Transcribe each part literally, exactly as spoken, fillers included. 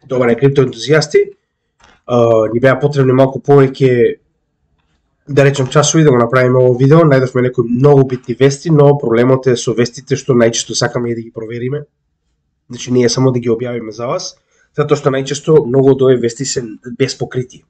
добаре криптоентузијасти, ни беа потребни малку повеќе, да речем, часови да го направиме ово видео. Најдовме некои многу битни вести, но проблемот е со вестите што најчесто сакаме и да ги провериме. Значи не е само да ги објавиме за вас, затоа што најчесто многу од овие вести се без покритие.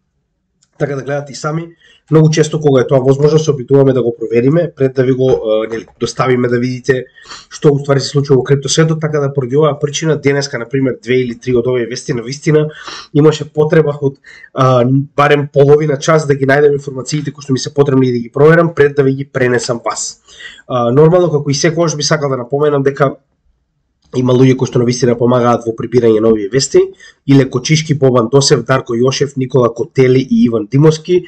Така да гледате и сами, многу често кога е тоа возможно се обидуваме да го провериме пред да ви го нели доставиме да видите што уствари се случува во криптосветот, така да поради оваа причина денеска на пример две или три од овие вести на вистина имаше потреба од а, барем половина час да ги најдем информациите кои што ми се потребни и да ги проверам пред да ви ги пренесам вас. А, нормално, како и секогаш би сакал да напоменам дека има луѓе кои што навистина помагаат во прибирање на овие вести, Иле Кочишки, Бобан Досев, Дарко Јошев, Никола Котели и Иван Димовски,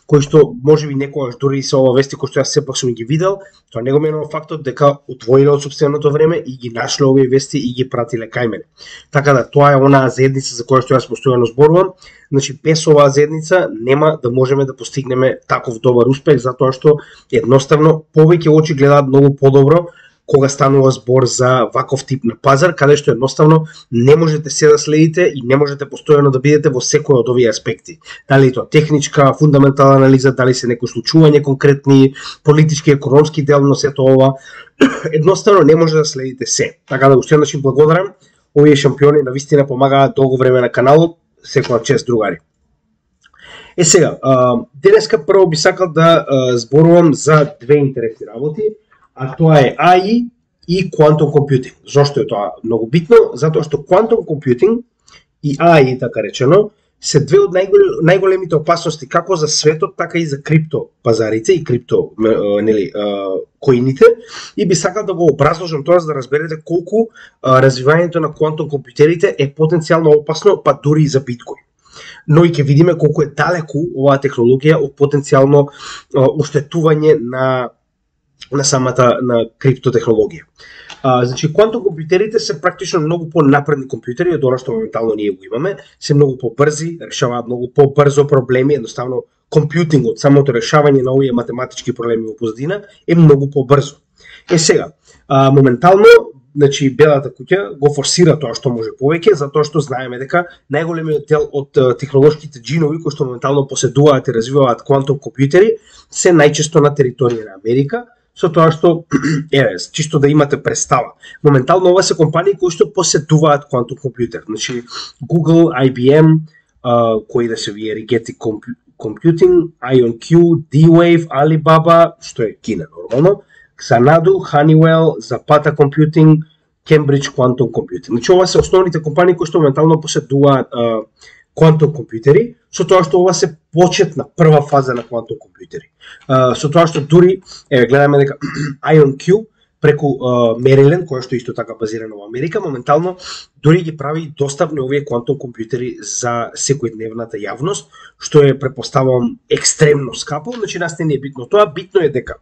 кои што можеби некогаш дури и со ова вести кои што јас сепак сум ги видел, тоа не го менува фактот дека отвоиле од сопственото време и ги нашле овие вести и ги пратиле кај мене. Така да тоа е онаа заедница за која што јас постојано зборувам. Значи без оваа заедница нема да можеме да постигнеме таков добар успех, затоа што едноставно повеќе очи гледаат многу подобро кога станува збор за ваков тип на пазар, каде што едноставно не можете се да следите и не можете постојано да бидете во секој од овие аспекти. Дали тоа техничка, фундаментална анализа, дали се некои случување конкретни, политички, економски дел на сето ова, едноставно не може да следите се. Така да уште еднаш им благодарам, овие шампиони навистина помагаат долго време на каналот, секоја чест другари. Е сега, денеска прво би сакал да зборувам за две интересни работи, а тоа е А И и Quantum Computing. Зошто е тоа многу битно? Затоа што Quantum Computing и А И, така речено, се две од најголемите опасности како за светот, така и за крипто пазарите и крипто нели коините, и би сакал да го образложам тоа за да разберете колку развивањето на Quantum компјутерите е потенцијално опасно, па дури и за биткоин. Но и ќе видиме колку е далеку оваа технологија од потенцијално оштетување на на самата на криптотехнологија. А, значи, квантум компјутерите се практично многу по-напредни компјутери од она што моментално ние го имаме, се многу по-брзи, решаваат многу по-брзо проблеми, едноставно компјутингот, самото решавање на овие математички проблеми во позадина е многу по-брзо. Е сега, а, моментално, значи Белата куќа го форсира тоа што може повеќе, затоа што знаеме дека најголемиот дел од технолошките джинови кои што моментално поседуваат и развиваат квантум компјутери се најчесто на територија на Америка, со тоа што, еве, чисто да имате представа. Моментално ова се компании кои што поседуваат квантум компјутер. Значи Google, I B M, uh, кои да се вие Rigetti Computing, IonQ, D-Wave, Alibaba, што е Кина нормално, Xanadu, Honeywell, Zapata Computing, Cambridge Quantum Computing. Значи ова се основните компании кои што моментално поседуваат uh, квантум компјутери, со тоа што ова се почетна прва фаза на квантум компјутери. Uh, со тоа што дури, еве гледаме дека IonQ преку uh, Maryland, која што исто така базирана во Америка, моментално дури ги прави доставни овие квантум компјутери за секојдневната јавност, што е, препоставувам, екстремно скапо, значи нас не е битно тоа, битно е дека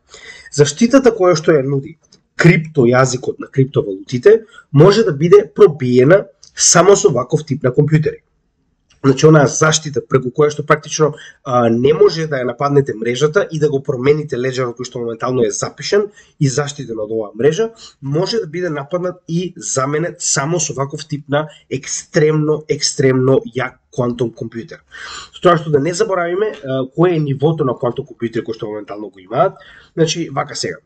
заштитата која што ја нуди крипто јазикот на криптовалутите може да биде пробиена само со ваков тип на компјутери. Значи, онаа заштита преку која што практично а, не може да ја нападнете мрежата и да го промените леџерот кој што моментално е запишен и заштитен од оваа мрежа, може да биде нападнат и заменет само со ваков тип на екстремно, екстремно јак квантум компјутер. Со тоа што да не заборавиме а, кое е нивото на квантум компјутери кој што моментално го имаат, значи, вака сега.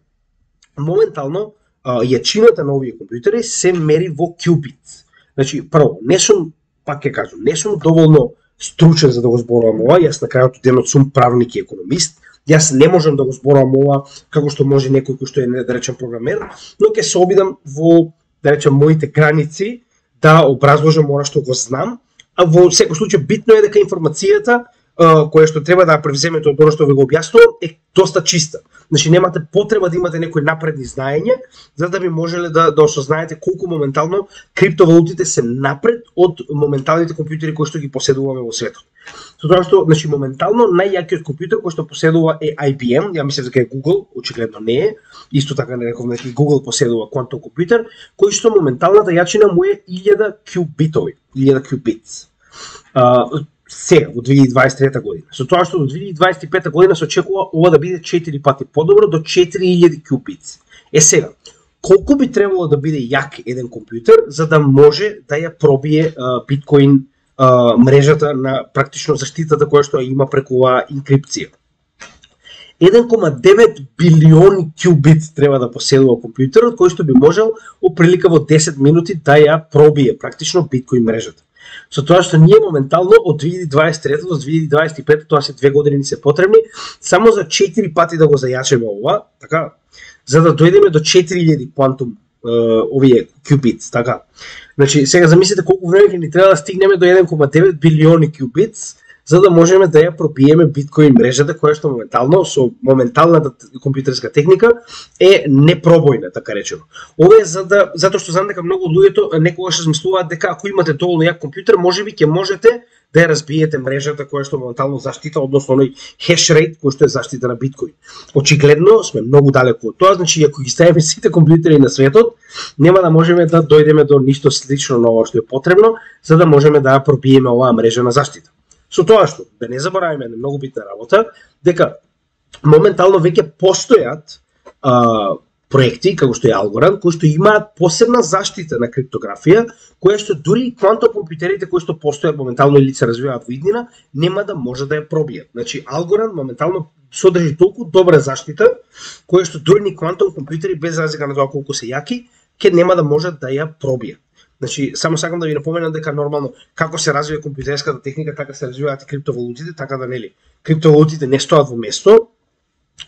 Моментално, а, јачината на овие компјутери се мери во qubits. Значи, прво, не сум пак ќе кажам, не сум доволно стручен за да го зборувам ова, јас на крајот од денот сум правник и економист, јас не можам да го зборувам ова како што може некој кој што е, да речем, програмер, но ќе се обидам во, да речем, моите граници да образложам ова што го знам, а во секој случај битно е дека информацијата која што треба да ја превземете од она што ви го објаснувам е доста чиста. Значи немате потреба да имате некои напредни знаења за да би можеле да да осознаете колку моментално криптовалутите се напред од моменталните компјутери кои што ги поседуваме во светот. Со тоа што, значи, моментално најјакиот компјутер кој што поседува е I B M, ја мислев дека е Google, очигледно не е. Исто така не реков дека Google поседува квантум компјутер кој што моменталната јачина му е илјада qubitovi, илјада qubits. Uh, сега, во две илјади дваесет и трета година. Со тоа што до две илјади дваесет и пета година се очекува ова да биде четири пати подобро, до четири илјади qubits. Е сега, колку би требало да биде јак еден компјутер за да може да ја пробие uh, биткоин а, мрежата на практично заштитата која што има преку оваа инкрипција. еден кома девет билиони кјубит треба да поседува компјутерот, кој што би можел оприлика во десет минути да ја пробие практично биткоин мрежата. Со тоа што ние моментално од две илјади дваесет и трета до две илјади дваесет и пета, тоа се две години ни се потребни, само за четири пати да го зајачеме ова, така, за да дојдеме до четири илјади квантум овие кјубит, така. Значи, сега замислите колку време ќе ни треба да стигнеме до еден кома девет билиони кјубит, за да можеме да ја пробиеме биткоин мрежата, која што моментално со моменталната компјутерска техника е непробојна, така речено. Ова е за да, затоа што знам дека многу од луѓето некогаш размислуваат дека ако имате доволно јак компјутер, можеби ќе можете да ја разбиете мрежата која што моментално заштита, односно оној хеш рейт кој што е заштита на биткоин. Очигледно сме многу далеку од тоа, значи ако ги ставиме сите компјутери на светот, нема да можеме да дојдеме до ништо слично на ова што е потребно, за да можеме да ја пробиеме оваа мрежа на заштита. Со тоа што, да не забораваме една многу битна работа, дека моментално веќе постојат а, проекти, како што е Algorand, кои што имаат посебна заштита на криптографија, која што дури и квантокомпјутерите кои што постојат моментално или се развиваат во иднина, нема да може да ја пробијат. Значи, Algorand моментално содржи толку добра заштита, која што дури ни квантом компјутери, без разлика на тоа колку се јаки, ќе нема да можат да ја пробијат. Значи, само сакам да ви напоменам дека нормално како се развива компјутерската техника, така се развиваат и криптовалутите, така да нели. Криптовалутите не стоат во место,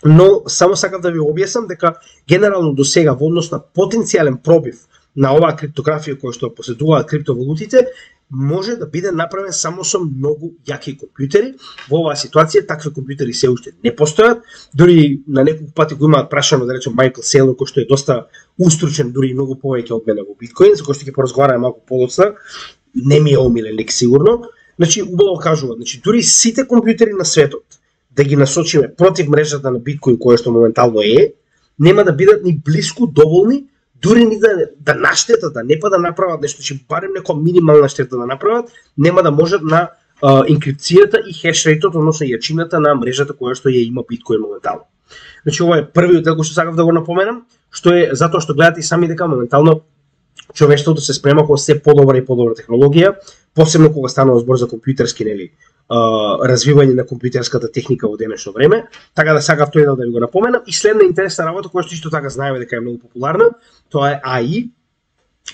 но само сакам да ви објаснам дека генерално до сега во однос на потенцијален пробив на оваа криптографија која што поседуваат криптовалутите, може да биде направен само со многу јаки компјутери. Во оваа ситуација такви компјутери се уште не постојат. Дури на неколку пати го имаат прашано, да речем, Майкл Сейлор, кој што е доста устручен, дури и многу повеќе од мене во биткоин, за кој што ќе поразговараме малку подоцна. Не ми е омилен лик сигурно. Значи, убаво кажува, значи дури сите компјутери на светот да ги насочиме против мрежата на биткоин која што моментално е, нема да бидат ни блиску доволни, дури ни да, да наштетат, да не па да направат нешто, че барем некоја минимална штета да направат, нема да можат на а, инкрипцијата и хешрейтот, односно јачината на мрежата која што ја има биткоин моментално. Значи, ова е првиот дел кој што сакав да го напоменам, што е затоа што гледате и сами дека моментално човештвото се спрема кога се подобра и подобра технологија, посебно кога станува збор за компјутерски, нели, развивање на компјутерската техника во денешно време, така да сакав тој дел да ви го напоменам. И следна интересна работа која што исто така знаеме дека е многу популарна, тоа е А И,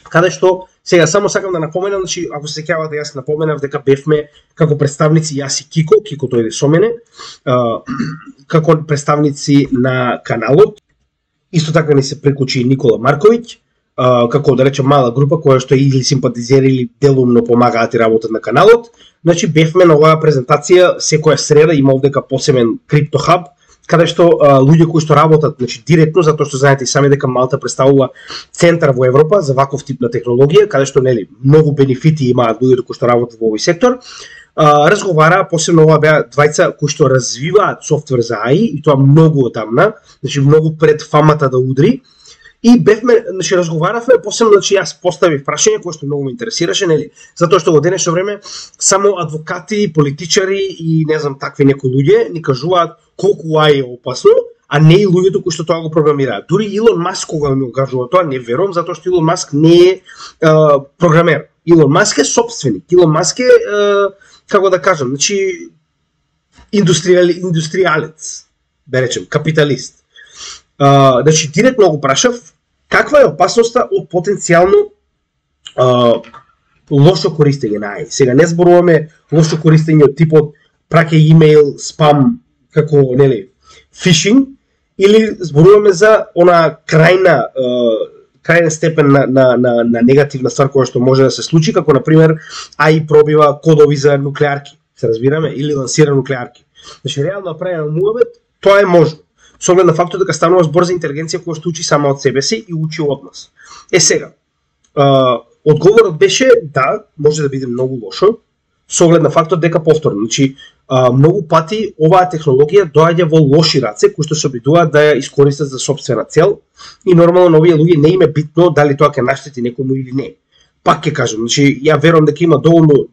каде што сега само сакам да напоменам, значи ако се сеќавате, јас напоменав дека бевме како представници јас и Кико, Кико дојде со мене, како представници на каналот. Исто така ни се прикучи Никола Марковиќ, како да речем мала група која што или симпатизери или делумно помагаат и работат на каналот. Значи бевме на оваа презентација секоја среда, има овдека посебен криптохаб, каде што а, луѓе кои што работат, значи директно, затоа што знаете и сами дека Малта представува центар во Европа за ваков тип на технологија, каде што нели многу бенефити имаат луѓето кои што работат во овој сектор. А, разговараа, посебно ова беа двајца кои што развиваат софтвер за А И и тоа многу одамна, значи многу пред фамата да удри. И бевме, значи разговаравме, посебно значи јас поставив прашање кое што многу ме интересираше, нели? Затоа што во денешно време само адвокати, политичари и не знам такви некои луѓе ни кажуваат колку А И е опасно, а не и луѓето кои што тоа го програмираат. Дури Илон Маск кога ми го кажува тоа, не верувам, затоа што Илон Маск не е а, програмер. Илон Маск е собственик. Илон Маск е, а, како да кажам, значи индустријал, индустријалец, да речем, капиталист. Uh, значи, директно го прашав каква е опасноста од потенцијално uh, лошо користење на А И. Сега не зборуваме лошо користење од типот праќај имејл, спам, како, нели, фишинг, или зборуваме за она крајна uh, крајна степен на, на, на, на негативна ствар која што може да се случи, како например А И пробива кодови за нуклеарки, се разбираме, или лансира нуклеарки. Значи, реално направено муабет, тоа е можно. Со оглед на фактот дека станува збор за интелигенција која што учи само од себе си и учи од нас. Е сега, а, одговорот беше да, може да биде многу лошо, со оглед на фактот дека повторно, значи а, многу пати оваа технологија доаѓа во лоши раце кои што се обидуваат да ја искористат за сопствена цел и нормално на овие луѓе не им е битно дали тоа ќе наштети некому или не. Пак ќе кажам, значи ја верувам дека има доволно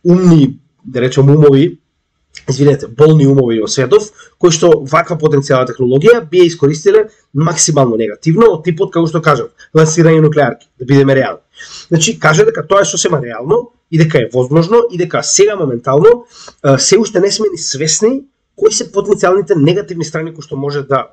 умни, да речем умови, извинете, болни умови во светов, кои што ваква потенцијална технологија би ја искористиле максимално негативно, од типот, како што кажав, лансирање нуклеарки, да бидеме реални. Значи, каже дека тоа е сосема реално, и дека е возможно и дека сега моментално се уште не сме ни свесни кои се потенцијалните негативни страни кои што може да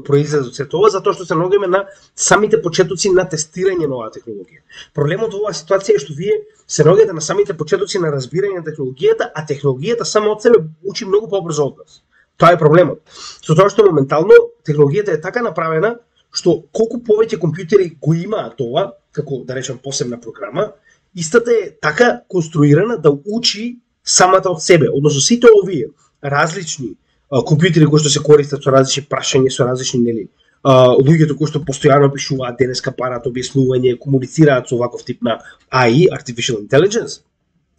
произлезат од сето ова, затоа што се наоѓаме на самите почетоци на тестирање на оваа технологија. Проблемот во оваа ситуација е што вие се наоѓате на самите почетоци на разбирање на технологијата, а технологијата само од себе учи многу побрзо од нас. Тоа е проблемот. Со тоа што моментално технологијата е така направена што колку повеќе компјутери го имаат ова, како да речем посебна програма, истата е така конструирана да учи самата од себе. Односно сите овие различни компјутери кои што се користат со различни прашања, со различни нели, луѓето кои што постојано пишуваат денеска парат објаснување, комуницираат со ваков тип на А И, Artificial Intelligence,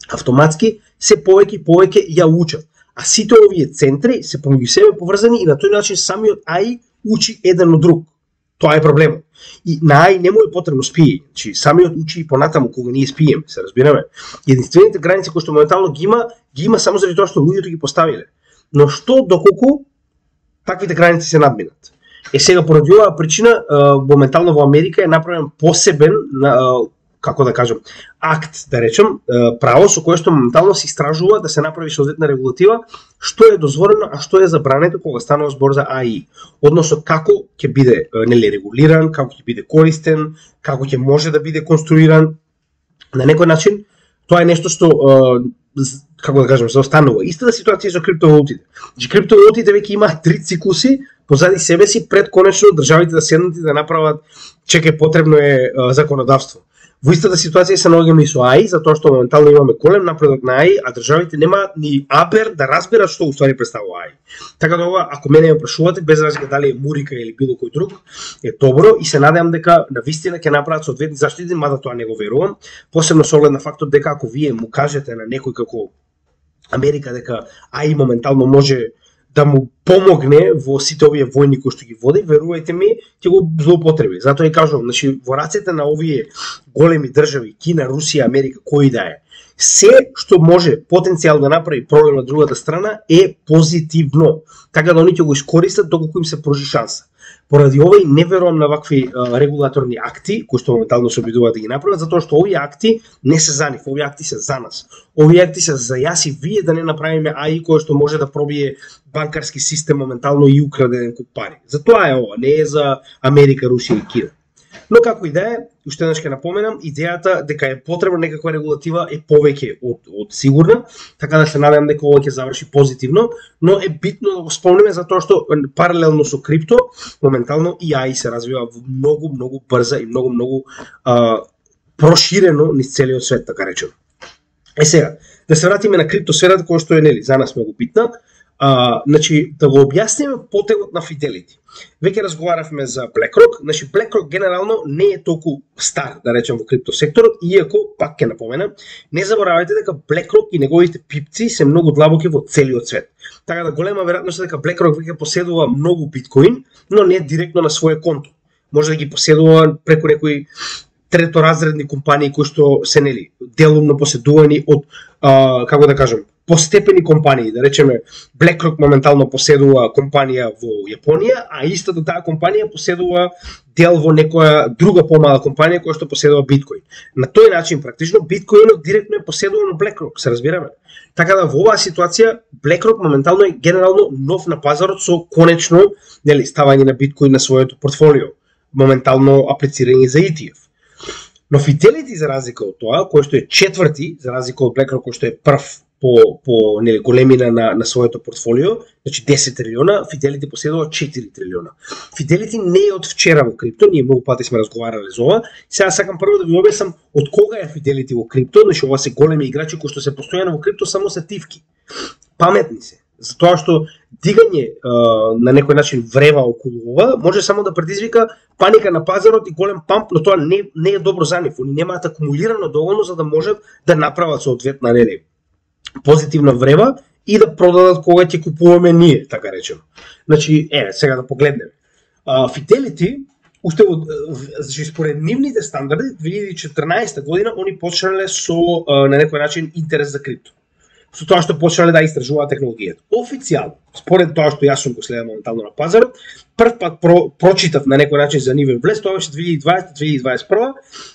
автоматски се повеќе и повеќе ја учат. А сите овие центри се помеѓу себе поврзани и на тој начин самиот А И учи еден од друг. Тоа е проблемот. И на А И не му е потребно спиење. Значи самиот учи и понатаму кога ние спиеме, се разбираме. Единствените граници кои што моментално ги има, ги има само заради тоа што луѓето ги поставиле. Но што доколку таквите граници се надминат? Е сега поради оваа причина моментално во Америка е направен посебен, како да кажам, акт, да речем, право со кое што моментално се истражува да се направи соодветна регулатива што е дозволено, а што е забрането кога станува збор за А И. Односно како ќе биде нели регулиран, како ќе биде користен, како ќе може да биде конструиран. На некој начин тоа е нешто што како да кажем, заостанува. Истата ситуација со криптовалутите. Значи криптовалутите веќе имаат три циклуси позади себе си пред конечно државите да седнат и да направат чекај потребно е законодавство. Во истата ситуација се наоѓаме и со А И, затоа што моментално имаме голем напредок на А И, а државите немаат ни абер да разберат што уствари представува А И. Така да ова, ако мене ме прашувате, без разлика дали е Мурика или било кој друг, е добро и се надевам дека навистина ќе направат соодветни заштити, мада тоа не го верувам, посебно со оглед на фактот дека ако вие му кажете на некој како Америка дека А И моментално може да му помогне во сите овие војни кои што ги води, верувајте ми, ќе го злоупотреби. Затоа и кажувам, значи во рацете на овие големи држави, Кина, Русија, Америка, кој да е, се што може потенцијално да направи проблем на другата страна е позитивно. Така да они ќе го искористат доколку им се пружи шанса. Поради овој не верувам на вакви а, регулаторни акти, кои што моментално се обидуваат да ги направат, затоа што овие акти не се за нив, овие акти се за нас. Овие акти се за јас и вие да не направиме А И кој што може да пробие банкарски систем моментално и украде еден куп пари. Затоа е ова, не е за Америка, Русија и Кина. Но како и да е, уште еднаш ќе напоменам, идејата дека е потребна некаква регулатива е повеќе од, од сигурна, така да се надевам дека ова ќе заврши позитивно, но е битно да го спомнеме затоа што паралелно со крипто, моментално и А И се развива многу, многу брза и многу, многу а, проширено низ целиот свет, така речем. Е сега, да се вратиме на криптосферата, која што е нели за нас многу битна. Uh, значи, да го објасниме потегот на Fidelity. Веќе разговаравме за BlackRock, значи BlackRock генерално не е толку стар, да речем, во криптосекторот, иако, пак ќе напоменам, не заборавајте дека BlackRock и неговите пипци се многу длабоки во целиот свет. Така да голема веројатност е дека BlackRock веќе поседува многу биткоин, но не директно на своје конто. Може да ги поседува преку некои треторазредни компании кои што се нели делумно поседувани од а, како да кажам, постепени компании, да речеме BlackRock моментално поседува компанија во Јапонија, а истата таа компанија поседува дел во некоја друга помала компанија која што поседува биткоин. На тој начин практично биткоинот директно е поседуван од BlackRock, се разбираме. Така да во оваа ситуација BlackRock моментално е генерално нов на пазарот со конечно нели ставање на биткоин на своето портфолио, моментално аплицирање за И Ти Еф. Но Fidelity за разлика од тоа, кој што е четврти, за разлика од BlackRock кој што е прв по по нели големина на на своето портфолио, значи десет трилиона, Fidelity поседува четири трилиона. Fidelity не е од вчера во крипто, ние многу пати сме разговарале за ова. Сега сакам прво да ви објаснам од кога е Fidelity во крипто, значи ова се големи играчи кои што се постојано во крипто само се тивки. Паметни се. Затоа што дигање а, на некој начин врева околу ова може само да предизвика паника на пазарот и голем памп, но тоа не не е добро за нив. Они немаат акумулирано доволно за да можат да направат соодветна нели позитивна врева и да продадат кога ќе купуваме ние, така речем. Значи, е, сега да погледнеме. А, Fidelity, уште од, значи, според нивните стандарди, две илјади и четрнаесета година, они почнале со, а, на некој начин, интерес за крипто. со тоа што почнале да истражуваат технологијата. Официјално, според тоа што јас сум го следам моментално на пазарот, прв пат про, прочитав на некој начин за нивен влез, тоа беше две илјади и дваесета две илјади и дваесет и прва,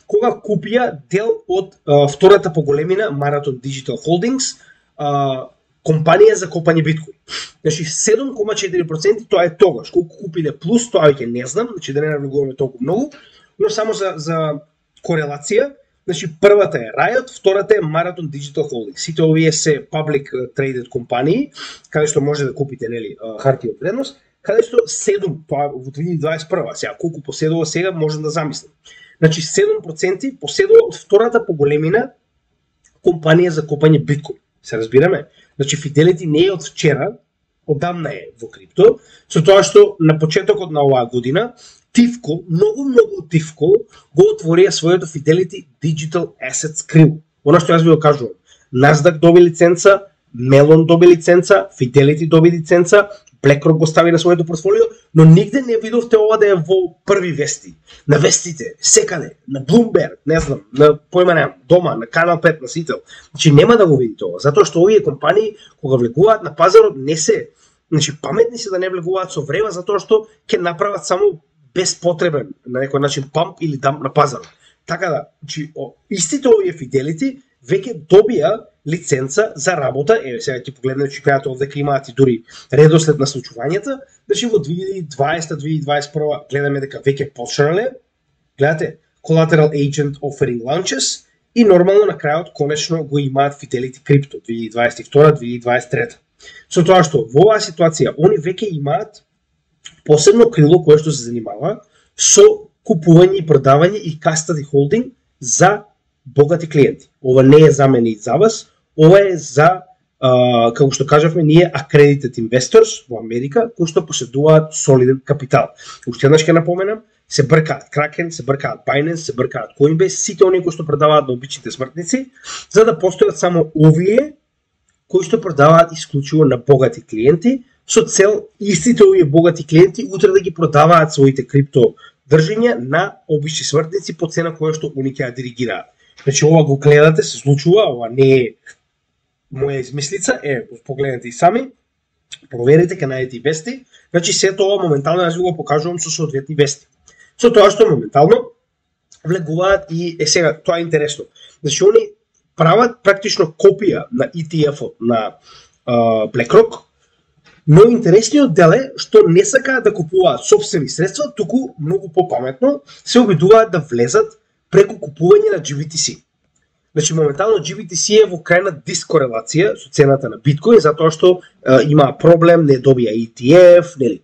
кога купија дел од а, втората по големина Marathon Digital Holdings, а, компанија за копање биткоин. Значи седум кома четири проценти тоа е тогаш. Колку купиле плюс, тоа веќе не знам, значи да не навлегуваме толку многу, но само за за корелација, значи првата е Riot, втората е Marathon Digital Holdings. Сите овие се public traded компании, каде што може да купите, нели, хартија од вредност, каде што седум, тоа во две илјади и дваесет и прва, сега колку поседува сега можам да замислам. Значи седум проценти поседува од втората по големина компанија за копање биткоин. Се разбираме? Значи Fidelity не е од вчера, одамна е во крипто, со тоа што на почетокот на оваа година Тивко, многу многу Тивко го отворија своето Fidelity Digital Assets крило. Она што јас ви го кажувам, Nasdaq доби лиценца, Melon доби лиценца, Fidelity доби лиценца, BlackRock го стави на своето портфолио, но нигде не видовте ова да е во први вести. На вестите, секаде, на Bloomberg, не знам, на појма немам, дома, на Канал пет, на Сител. Значи нема да го видите ова, затоа што овие компании кога влегуваат на пазарот не се, значи паметни се да не влегуваат со врева затоа што ќе направат само безпотребен на некој начин памп или дамп на пазарот. Така да, значи истите овие Fidelity веќе добија лиценца за работа, еве сега ќе погледнете чекајате овде имаат и дури редослед на случувањата, значи во две илјади и дваесета две илјади и дваесет и прва гледаме дека веќе почнале, гледате, Collateral Agent Offering Launches и нормално на крајот конечно го имаат Fidelity Crypto две илјади и дваесет и втора две илјади и дваесет и трета. Со тоа што во оваа ситуација они веќе имаат посебно крило кое што се занимава со купување и продавање и custody holding за богати клиенти. Ова не е за мене и за вас, ова е за, а, како што кажавме, ние accredited investors во Америка, кои што поседуваат солиден капитал. Уште еднаш ќе напоменам, се бркаат Kraken, се бркаат Binance, се бркаат Coinbase, сите оние кои што продаваат на обичните смртници, за да постојат само овие кои што продаваат исклучиво на богати клиенти, со цел истите овие богати клиенти утре да ги продаваат своите крипто држења на обични смртници по цена која што они ќе ја диригираат. Значи ова го гледате, се случува, ова не е моја измислица, е, погледнете и сами, проверете, ќе најдете и вести, значи сето ова моментално јас ви го покажувам со соодветни вести. Со тоа што моментално влегуваат и, е сега, тоа е интересно, значи они прават практично копија на и ти еф-от на uh, BlackRock, но интересниот дел е што не сакаат да купуваат сопствени средства, туку многу попаметно се обидуваат да влезат преку купување на джи би ти си. Значи моментално джи би ти си е во крајна дискорелација со цената на биткоин затоа што е, има проблем, не добија и ти еф, нели.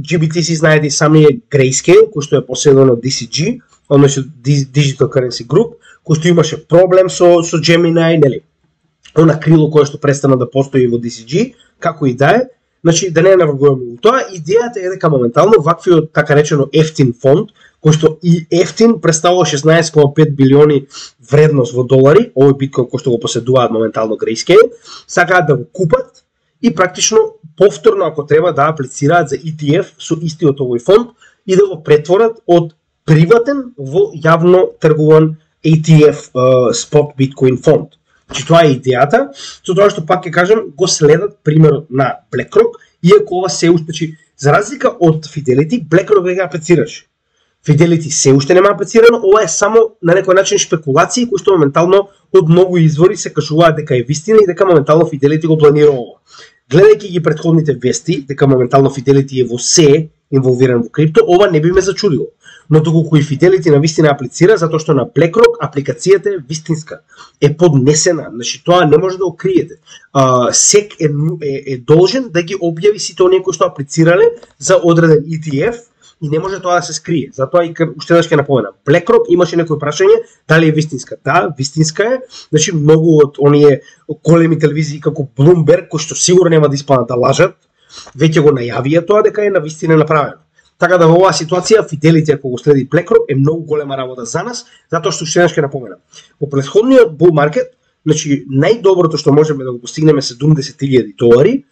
джи би ти си знаете и самиот Grayscale, кој што е поседено од ди си джи, односно Digital Currency Group, кој што имаше проблем со со Gemini, нели. Она крило кое што престана да постои во ди си джи, како и да е. Значи да не навргуваме во тоа, идејата е дека моментално ваквиот така речено ефтин фонд, кој што и ефтин представува шеснаесет кома пет билиони вредност во долари, овој биткоин кој што го поседуваат моментално Grayscale, сакаат да го купат и практично повторно ако треба да аплицираат за и ти еф со истиот овој фонд и да го претворат од приватен во јавно тргуван и ти еф uh, спот биткоин фонд. Значи тоа е идејата, со тоа што пак ќе кажам, го следат примерот на BlackRock, иако ова се уште, значи, за разлика од Fidelity, BlackRock веќе аплицираше. Fidelity се уште нема аплицирано, ова е само на некој начин шпекулации кои што моментално од многу извори се кажуваат дека е вистина и дека моментално Fidelity го планира ова. Гледајќи ги претходните вести, дека моментално Fidelity е во се инволвиран во крипто, ова не би ме зачудило. Но доколку и Fidelity на вистина аплицира, затоа што на BlackRock апликацијата е вистинска, е поднесена, значи тоа не може да го криете. Uh, сек е, е, е должен да ги објави сите оние кои што аплицирале за одреден и ти еф и не може тоа да се скрие. Затоа и уште еднаш ќе напоменам, BlackRock имаше некој прашање дали е вистинска. Да, вистинска е. Значи многу од оние големи телевизии како Bloomberg, кои што сигурно нема да испаднат да лажат, веќе го најавија тоа дека е навистина направено. Така да во оваа ситуација Fidelity ако го следи BlackRock е многу голема работа за нас, затоа што уште еднаш ќе напоменам. Во претходниот bull market, значи најдоброто што можеме да го постигнеме седумдесет илјади долари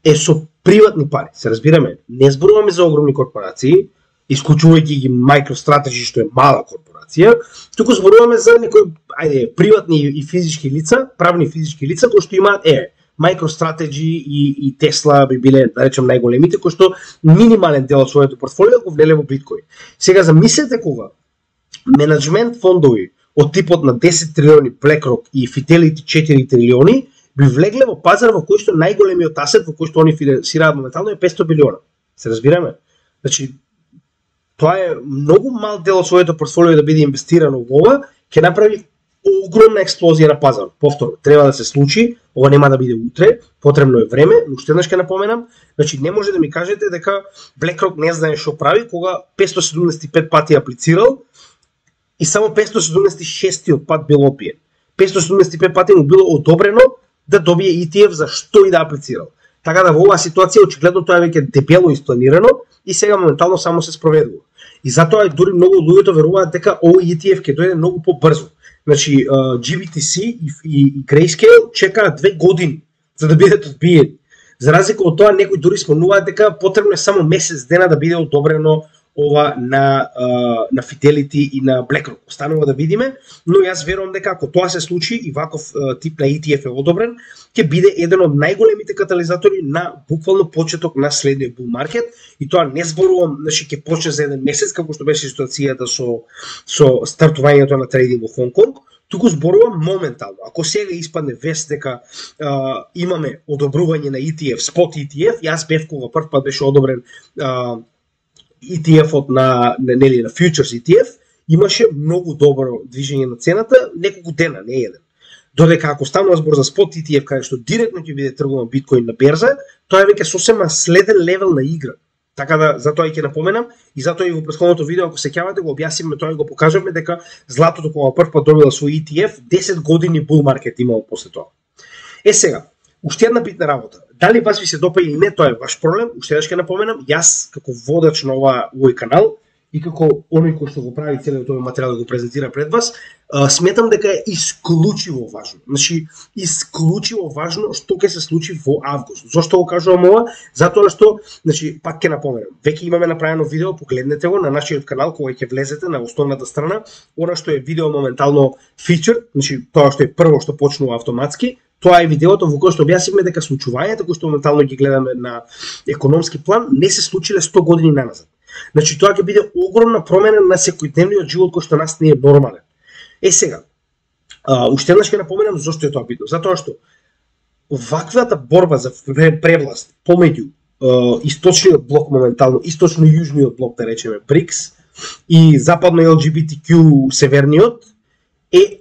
е со приватни пари, се разбираме. Не зборуваме за огромни корпорации, исклучувајќи ги MicroStrategy што е мала корпорација, туку зборуваме за некои ајде приватни и физички лица, правни физички лица кои што имаат е MicroStrategy и, и Tesla би биле, да речем, најголемите, кои што минимален дел од своето портфолио го влеле во биткоин. Сега замислете кога менеджмент фондови од типот на десет трилиони BlackRock и Fidelity четири трилиони би влегле во пазар во кој што најголемиот асет во кој што они финансираат моментално е петстотини билиона. Се разбираме? Значи, тоа е многу мал дел од своето портфолио да биде инвестирано во ова, ќе направи огромна експлозија на пазар. Повторно, треба да се случи, ова нема да биде утре, потребно е време, но уште еднаш ќе напоменам, значи не може да ми кажете дека BlackRock не знае што прави кога петстотини седумдесет и пет пати аплицирал и само петстотини седумдесет и шестиот пат бил одбиен. петстотини седумдесет и пет пати му било одобрено да добие И Т Ф за што и да аплицирал. Така да во оваа ситуација очигледно тоа е веќе дебело испланирано и сега моментално само се спроведува. И затоа дури многу луѓето веруваат дека овој И Т Ф ќе дојде многу побрзо. Значи, G B T C и, и, и Grayscale чекаат две години за да бидат одбиени. За разлика од тоа, некои дури спомнуваат дека потребно е само месец дена да биде одобрено ова на, на Fidelity и на BlackRock. Останува да видиме, но јас верувам дека ако тоа се случи и ваков тип на И Т Ф е одобрен, ќе биде еден од најголемите катализатори на буквално почеток на следниот bull market, и тоа не зборувам, значи ќе почне за еден месец како што беше ситуацијата со со стартувањето на трейдинг во Хонг Конг, туку зборувам моментално. Ако сега испадне вест дека а, имаме одобрување на И Т Ф, спот И Т Ф, јас бев кога прв пат беше одобрен а, И Т Ф-от на, нели, на Futures И Т Ф, имаше многу добро движење на цената, неколку дена, не еден. Додека ако станува збор за спот И Т Ф, каде што директно ќе биде тргуван биткоин на берза, тоа е веќе сосема следен левел на игра. Така да, затоа и ќе напоменам, и затоа и во претходното видео, ако се сеќавате, го објасниме тоа и го покажавме дека златото кога прв пат добила свој И Т Ф, десет години bull market имало после тоа. Е сега, уште една битна работа. Дали вас ви се допаѓа или не, тоа е ваш проблем. Уште еднаш ќе напоменам, јас како водач на ова овој канал и како оној кој што го прави целиот овој материјал да го презентира пред вас, сметам дека е исклучиво важно. Значи, исклучиво важно што ќе се случи во август. Зошто го кажувам ова? Затоа што, значи, пак ќе напоменам, веќе имаме направено видео, погледнете го на нашиот канал кога ќе влезете на основната страна, она што е видео моментално фичер, значи тоа што е прво што почнува автоматски. Тоа е видеото во кое што објаснивме дека случувањата кои што моментално ги гледаме на економски план не се случиле сто години наназад. Значи тоа ќе биде огромна промена на секојдневниот живот кој што нас не е нормален. Е сега, а, уште еднаш ќе напоменам зошто е тоа битно. Затоа што ваквата борба за превласт помеѓу а, источниот блок моментално, источно-јужниот блок, да речеме БРИКС, и западно Л Џи Би Ти Ќу северниот е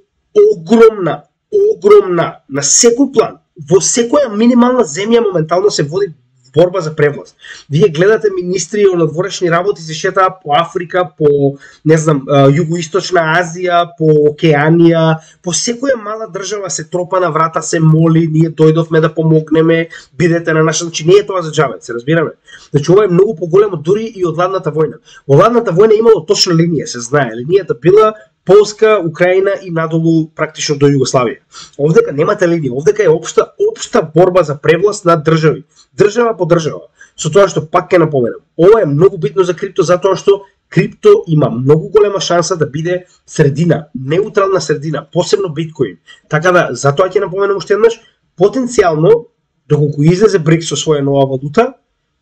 огромна огромна на секој план. Во секоја минимална земја моментално се води борба за превласт. Вие гледате министри од надворешни работи се шетаат по Африка, по не знам, југоисточна Азија, по Океанија, по секоја мала држава се тропа на врата, се моли, ние дојдовме да помогнеме, бидете на наша, значи не е тоа за џабе, се разбираме. Значи ова е многу поголемо дури и од ладната војна. Во ладната војна имало точна линија, се знае, линијата била Полска, Украина и надолу практично до Југославија. Овдека немате линија, овдека е општа општа борба за превласт над држави, држава по држава. Со тоа што пак ќе напоменам, ова е многу битно за крипто затоа што крипто има многу голема шанса да биде средина, неутрална средина, посебно биткоин. Така да затоа ќе напоменам уште еднаш, потенцијално доколку излезе БРИКС со своја нова валута,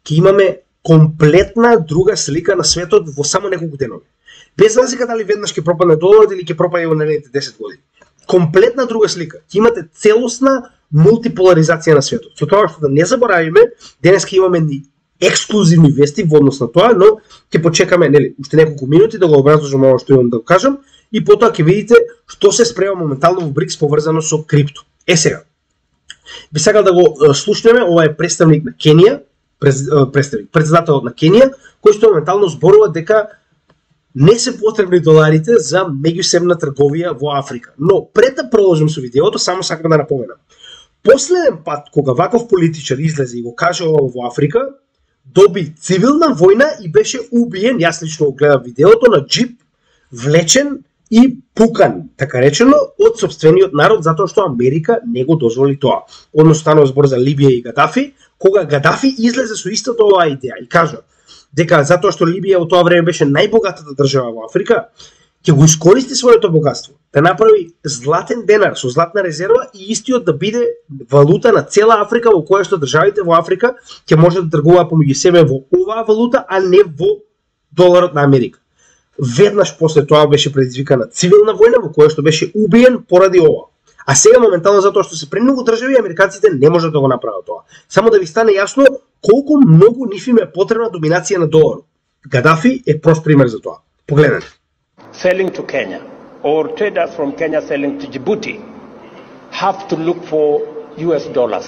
ќе имаме комплетна друга слика на светот во само неколку денови. Без разлика дали веднаш ќе пропадне доларот или ќе пропаде во наредните десет години. Комплетна друга слика. Ќе имате целосна мултиполаризација на светот. Со тоа што да не заборавиме, денеска имаме ни ексклузивни вести во однос на тоа, но ќе почекаме, нели, уште неколку минути да го образложам ова што имам да го кажам и потоа ќе видите што се спрема моментално во БРИКС поврзано со крипто. Е сега, би сакал да го слушнеме, ова е представник на Кенија, представник, председателот на Кенија, кој што моментално зборува дека не се потребни доларите за меѓусебна трговија во Африка. Но пред да продолжам со видеото, само сакам да напоменам. Последен пат кога ваков политичар излезе и го каже ова во Африка, доби цивилна војна и беше убиен, јас лично го гледав видеото, на джип, влечен и пукан, така речено, од сопствениот народ, затоа што Америка не го дозволи тоа. Односно станува збор за Либија и Гадафи, кога Гадафи излезе со истата оваа идеја и кажа: дека затоа што Либија во тоа време беше најбогатата држава во Африка, ќе го искористи своето богатство, да направи златен денар со златна резерва и истиот да биде валута на цела Африка, во која што државите во Африка ќе можат да тргуваат помеѓу себе во оваа валута, а не во доларот на Америка. Веднаш после тоа беше предизвикана цивилна војна во која што беше убиен поради ова. А сега моментално затоа што се премногу држави, американците не можат да го направат тоа. Само да ви стане јасно колку многу нив им е потребна доминација на доларот. Гадафи е прост пример за тоа. Погледнете. Selling to Kenya or traders from Kenya selling to Djibouti have to look for U S dollars.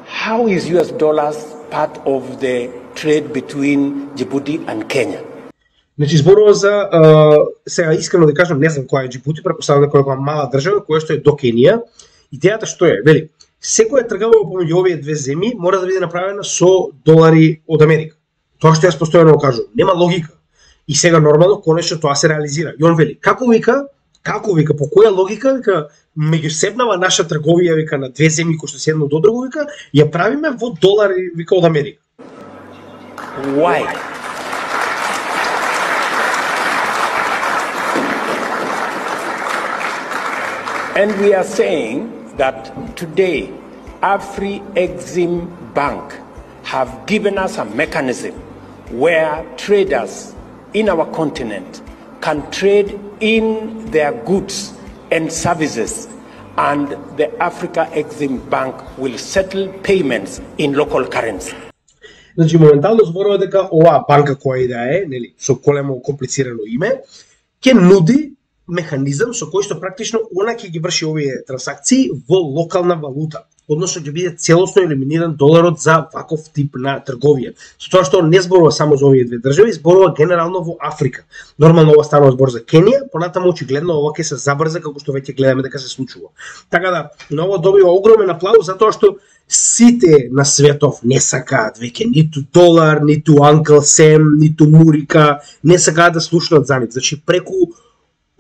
How is U S dollars part of the trade between Djibouti and Kenya? Значи зборува за uh, сега искрено да кажам, не знам која е Џибути, претпоставувам дека е мала држава која што е до Кенија. Идејата што е, вели, секоја трговија помеѓу овие две земји мора да биде направена со долари од Америка. Тоа што јас постојано го кажувам, нема логика. И сега нормално конечно тоа се реализира. И он вели, како вика, како вика, по која логика, вика, меѓусебнава наша трговија, вика, на две земји кои што се едно до друго, вика, ја правиме во долари, вика, од Америка. Why? And we are saying that today, Afri-Exim Bank have given us a mechanism where traders in our continent can trade in their goods and services, and the Africa-Exim Bank will settle payments in local currency. Значи, моментално зборува дека оваа банка која и да е, нели, со големо комплицирано име, ќе нуди механизам со кој што практично она ќе ги врши овие трансакции во локална валута, односно ќе биде целосно елиминиран доларот за ваков тип на трговија. Со тоа што не зборува само за овие две држави, зборува генерално во Африка. Нормално ова станува збор за Кенија, понатаму очигледно ова ќе се забрза како што веќе гледаме дека се случува. Така да, на ова добива огромен аплауз затоа што сите на светов не сакаат веќе ниту долар, ниту Uncle Sam, ниту Мурика, не сакаат да слушнат за нив. Значи преку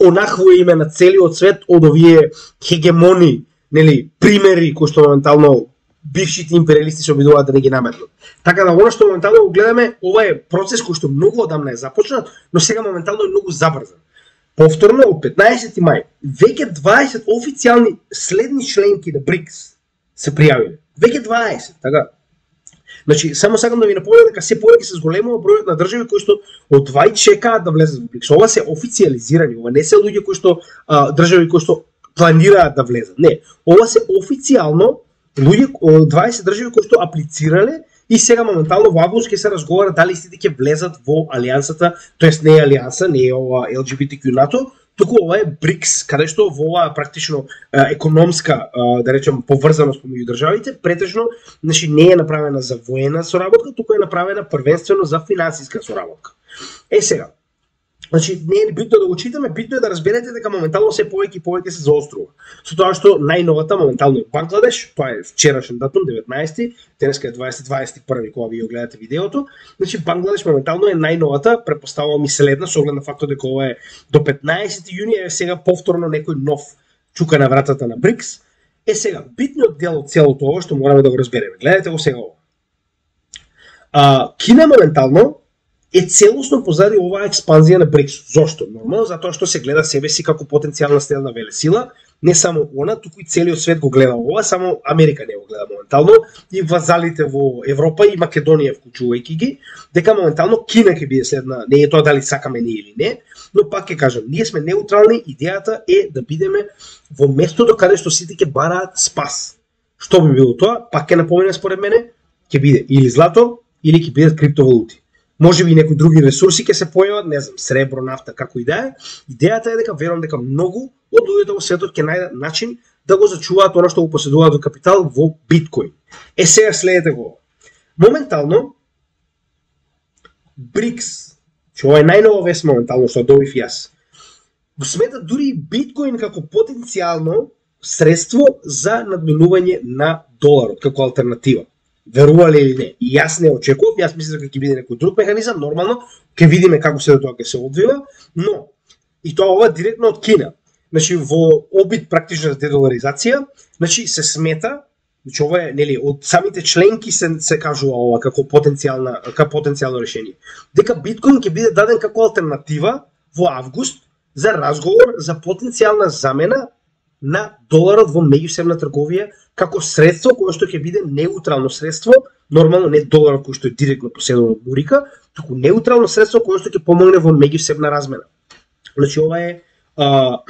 онакво име на целиот свет од овие хегемони, нели, примери кои што моментално бившите империалисти се обидуваат да не ги наметнат. Така да, оно што моментално го гледаме, ова е процес кој што многу одамна е започнат, но сега моментално е многу забрзан. Повторно, од петнаесети мај, веќе дваесет официјални следни членки на БРИКС се пријавиле. Веќе дваесет, така. Значи, само сакам да ви напомнам дека се повеќе се зголемува бројот на држави кои што од вај чекаат да влезат во БРИКС. Ова се официјализирани, ова не се луѓе кои што а, држави кои што планираат да влезат. Не, ова се официјално луѓе од дваесет држави кои што аплицирале и сега моментално во август ќе се разговара дали истите ќе влезат во алијансата, тоест не е алијанса, не е ова Ел Џи Би Ти Кју НАТО, туку ова е БРИКС, каде што во оваа практично економска, да речем, поврзаност помеѓу државите, претежно, значи не е направена за воена соработка, туку е направена првенствено за финансиска соработка. Е сега, значи не е битно да го читаме, битно е да разберете дека моментално се повеќе и повеќе се заострува. Со тоа што најновата моментално е Бангладеш, тоа е вчерашен датум, деветнаесети, денеска е дваесет дваесет и први кога вие гледате видеото. Значи Бангладеш моментално е најновата, претпоставувам и следна со оглед на фактот дека ова е до петнаесети јуни, е сега повторно некој нов чука на вратата на БРИКС. Е сега, битниот дел од целото ова што мораме да го разбереме. Гледате го сега ова. А, Кина моментално е целосно позади оваа експанзија на БРИКС. Зошто? Нормално, затоа што се гледа себе си како потенцијална силна велесила, не само она, туку и целиот свет го гледа ова, само Америка не го гледа моментално, и вазалите во Европа и Македонија вклучувајќи ги, дека моментално Кина ќе биде следна, не е тоа дали сакаме ние или не, но пак ќе кажам, ние сме неутрални, идејата е да бидеме во местото каде што сите ќе бараат спас. Што би било тоа? Пак ќе напомене според мене, ќе биде или злато, или ќе бидат криптовалути. Може би некои други ресурси ќе се појават, не знам, сребро, нафта, како и да е. Идејата е дека верувам дека многу од луѓето во светот ќе најдат начин да го зачуваат она што го поседуваат во капитал во биткоин. Е сега следете го. Моментално БРИКС, што ова е најнова вест моментално што добив јас, го сметат дури и биткоин како потенцијално средство за надминување на доларот како алтернатива. Верувале или не? И јас не очекував, јас мислам дека ќе биде некој друг механизам, нормално, ќе видиме како се тоа ќе се одвива, но и тоа ова директно од Кина. Значи во обид практично за дедоларизација, значи се смета Значи ова е, нели, од самите членки се се кажува ова како потенцијална како потенцијално решение. Дека биткоин ќе биде даден како алтернатива во август за разговор за потенцијална замена на доларот во меѓусебна трговија како средство кое што ќе биде неутрално средство, нормално не доларот кој што е директно поседува од бурика, туку неутрално средство кое што ќе помогне во меѓусебна размена. Значи ова е а,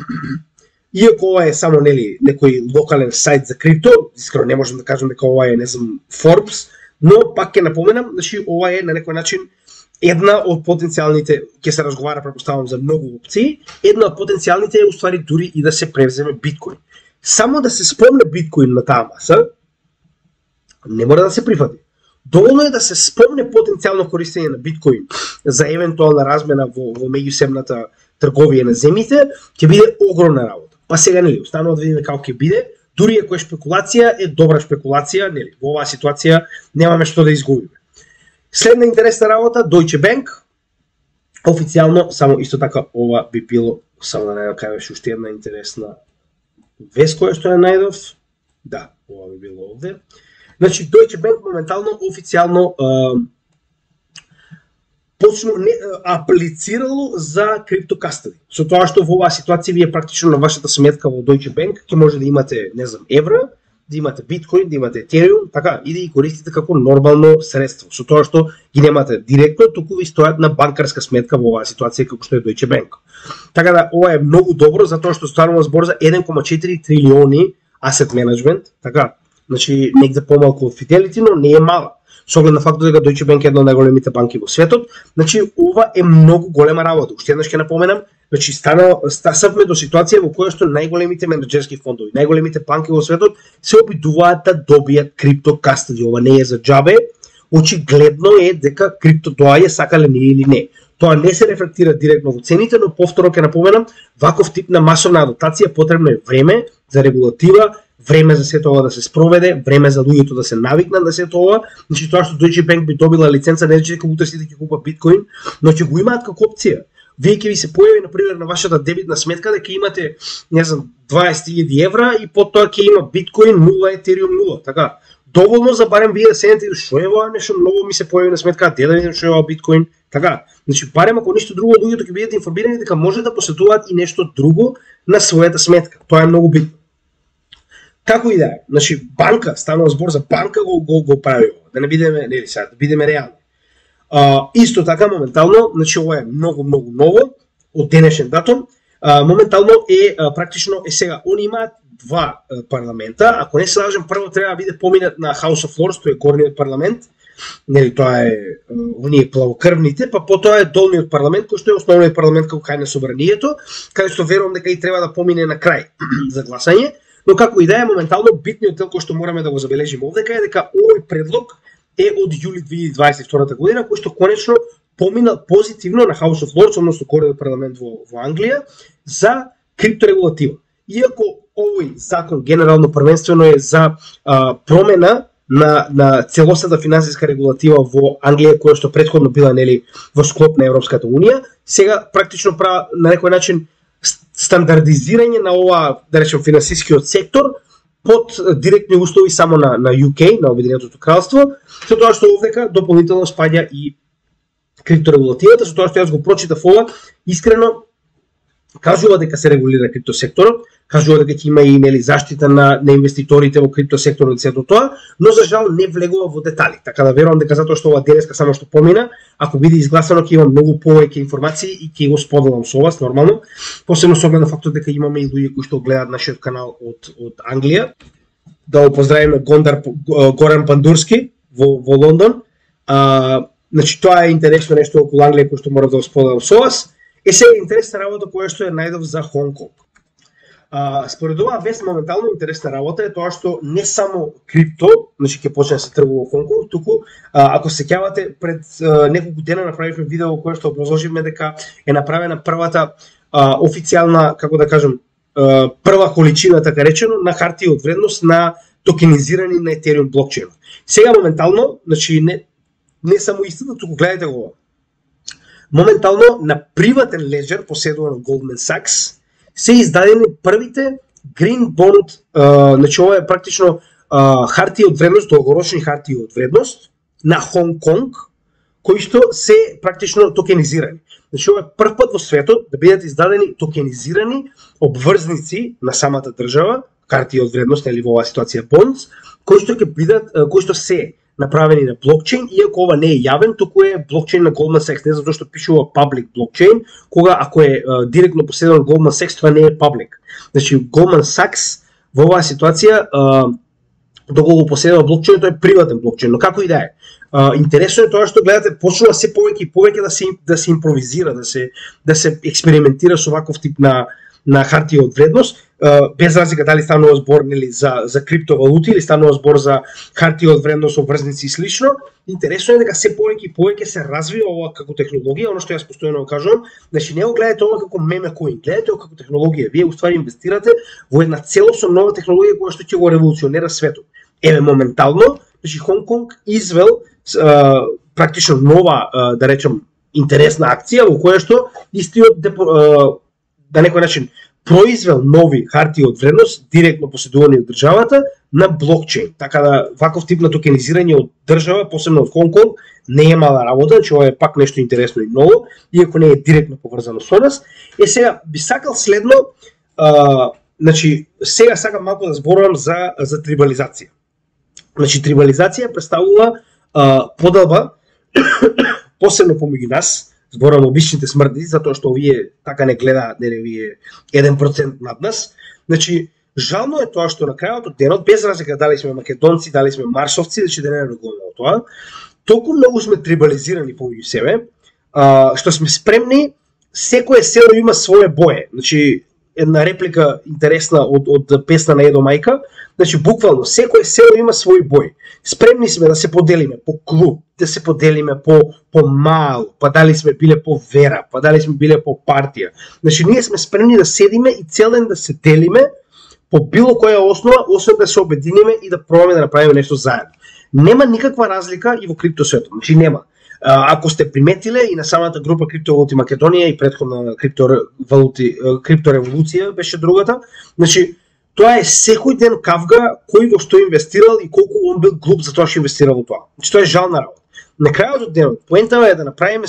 иако ова е само нели некој локален сајт за крипто, искрено не можам да кажам дека ова е не знам Forbes, но пак ќе напоменам, значи ова е на некој начин една од потенцијалните, ќе се разговара претпоставувам за многу опции, една од потенцијалните е уствари дури и да се превземе биткоин. Само да се спомне биткоин на таа маса, не мора да се прифати. Доволно е да се спомне потенцијално користење на биткоин за евентуална размена во, во меѓусебната трговија на земјите, ќе биде огромна работа. Па сега нели, останува да видиме како ќе биде, дури ако е шпекулација, е добра шпекулација, нели, во оваа ситуација немаме што да изгубиме. Следна интересна работа, Deutsche Bank, официјално, само исто така ова би било, само да не кажеш уште една интересна вест која што ја најдов, да, ова би било овде. Значи, Deutsche Bank моментално, официјално, почну не, аплицирало за криптокастади. Со тоа што во оваа ситуација вие практично на вашата сметка во Deutsche Bank ќе може да имате, не знам, евра, да имате биткоин, да имате етериум, така, и да ги користите како нормално средство. Со тоа што ги немате директно, туку ви стојат на банкарска сметка во оваа ситуација како што е Deutsche Bank. Така да, ова е многу добро, затоа што станува збор за еден кома четири трилиони asset management, така, значи негде помалку од Fidelity, но не е мала. Со оглед на фактот дека Deutsche Bank е една од најголемите банки во светот, значи ова е многу голема работа. Уште еднаш ќе напоменам, значи стана стасавме до ситуација во која што најголемите менаџерски фондови, најголемите банки во светот се обидуваат да добијат криптокастади. Ова не е за џабе, очигледно е дека крипто доаѓа сакале ние или не. Тоа не се рефлектира директно во цените, но повторно ќе напоменам, ваков тип на масовна адаптација потребно е време за регулатива, време за сето ова да се спроведе, време за луѓето да се навикнат на сето ова. Значи тоа што Deutsche Bank би добила лиценца, не значи дека утре сите ќе купат биткоин, но ќе го имаат како опција. Вие ќе ви се појави на пример на вашата дебитна сметка дека имате, не знам, дваесет илјади евра и потоа ќе има биткоин нула, етериум нула, така. Доволно за барем вие да седнете и што е ова нешто многу ми се појави на сметка, де да видим што е ова биткоин, така. Значи барем ако ништо друго луѓето ќе бидат информирани дека може да посетуваат и нешто друго на својата сметка. Тоа е многу битно. Како и да е, значи банка, станува збор за банка го го, го прави ова, да не бидеме, нели сега, да бидеме реални. А, исто така моментално, значи ова е многу многу ново од денешен датум. А, моментално е а, практично е сега, они имаат два а, парламента, ако не се лажам, прво треба да биде поминат на House of Lords, тој е горниот парламент. Нели тоа е оние плавокрвните, па потоа е долниот парламент кој што е основниот парламент како кај на собранието, каде што верувам дека и треба да помине на крај за гласање. Но како и да е, моментално битниот дел кој што мораме да го забележиме овдека е дека овој предлог е од јули две илјади дваесет и втора година, кој што конечно помина позитивно на House of Lords, односно горниот парламент во, во Англија, за крипторегулатива. Иако овој закон генерално првенствено е за а, промена на, на целосната финансиска регулатива во Англија, која што претходно била нели во склоп на Европската унија, сега практично права на некој начин стандардизирање на ова, да речем, финансискиот сектор под директни услови само на, на ю кей, на Обединетото кралство, со тоа што овдека дополнително спаѓа и крипторегулативата, со тоа што јас го прочитав ова, искрено кажува дека се регулира криптосекторот, кажува дека ќе има и нели заштита на, на инвеститорите во криптосекторот и сето тоа, но за жал не влегува во детали. Така да верувам дека затоа што ова денеска само што помина, ако биде изгласано ќе има многу повеќе информации и ќе го споделам со вас нормално, посебно со оглед на фактот дека имаме и луѓе кои што гледаат нашиот канал од од Англија. Да го поздравиме Гондар Горан Пандурски во во Лондон. А, значи тоа е интересно нешто околу Англија кој што мора да го споделам со вас. Е сега интересна работа која што е најдов за Хонг Конг. А, според оваа вест моментално интересна работа е тоа што не само крипто, значи ќе почне да се тргува во Хонг Конг, туку а, ако се сеќавате пред а, неколку дена направивме видео во кое што образложивме дека е направена првата а, официјална, како да кажам, а, прва количина така речено на хартија од вредност на токенизирани на Ethereum блокчейнот. Сега моментално, значи не не само истина, туку гледате го. Моментално на приватен леџер поседуван од Goldman Sachs се издадени првите Green Bond, uh, значи ова е практично а, хартии од вредност, долгорочни хартии од вредност на Хонг Конг, кои што се практично токенизирани. Значи, ова е прв пат во светот да бидат издадени токенизирани обврзници на самата држава, хартии од вредност или во оваа ситуација bonds, кои што ќе бидат, кои што се направени на блокчейн, иако ова не е јавен, туку е блокчейн на Goldman Sachs, не затоа што пишува public блокчейн, кога ако е uh, директно поседен од Goldman Sachs, тоа не е public. Значи, Goldman Sachs во оваа ситуација, uh, доколку поседува блокчейн, тоа е приватен блокчейн, но како и да е. Uh, интересно е тоа што гледате, почнува се повеќе и повеќе да се да се импровизира, да се да се експериментира со ваков тип на на хартии од вредност, uh, без разлика дали станува збор нели за за криптовалути или станува збор за хартии од вредност, обврзници и слично. Интересно е дека се повеќе и повеќе се развива ова како технологија, оно што јас постојано го кажувам, значи не го гледате ова како меме коин, гледате ова како технологија. Вие уствари инвестирате во една целосно нова технологија која што ќе го револуционира светот. Еве моментално, значи Хонг Конг извел uh, практично нова, uh, да речем, интересна акција во која што истиот депо, uh, на некој начин произвел нови хартии од вредност директно поседувани од државата на блокчейн. Така да ваков тип на токенизирање од држава, посебно од Хонг Конг, не е мала работа, значи ова е пак нешто интересно и ново, иако не е директно поврзано со нас. Е сега би сакал следно, а, значи сега сакам малку да зборувам за за трибализација. Значи трибализација представува а, поделба посебно помеѓу нас. Зборам обичните смрди, затоа што овие така не гледаат, нели вие еден процент над нас. Значи, жално е тоа што на крајот од денот, без разлика дали сме македонци, дали сме маршовци, значи да не регулираме тоа, толку многу сме трибализирани помеѓу себе, а, што сме спремни, секое село има свое бое. Значи, една реплика интересна од, од песна на Едо Мајка, значи буквално секое село има свој бој. Спремни сме да се поделиме по клуб, да се поделиме по по мал, па дали сме биле по вера, па дали сме биле по партија. Значи ние сме спремни да седиме и цел ден да се делиме по било која основа, освен да се обединиме и да пробаме да направиме нешто заедно. Нема никаква разлика и во криптосветот. Значи нема. Ако сте приметиле и на самата група Криптовалути Македонија и претходна криптовалути криптореволуција беше другата, значи тоа е секој ден кавга кој во што инвестирал и колку он бил глуп за тоа што инвестирал во тоа. Значи тоа е жална работа. На крајот од денот, поентава е да направиме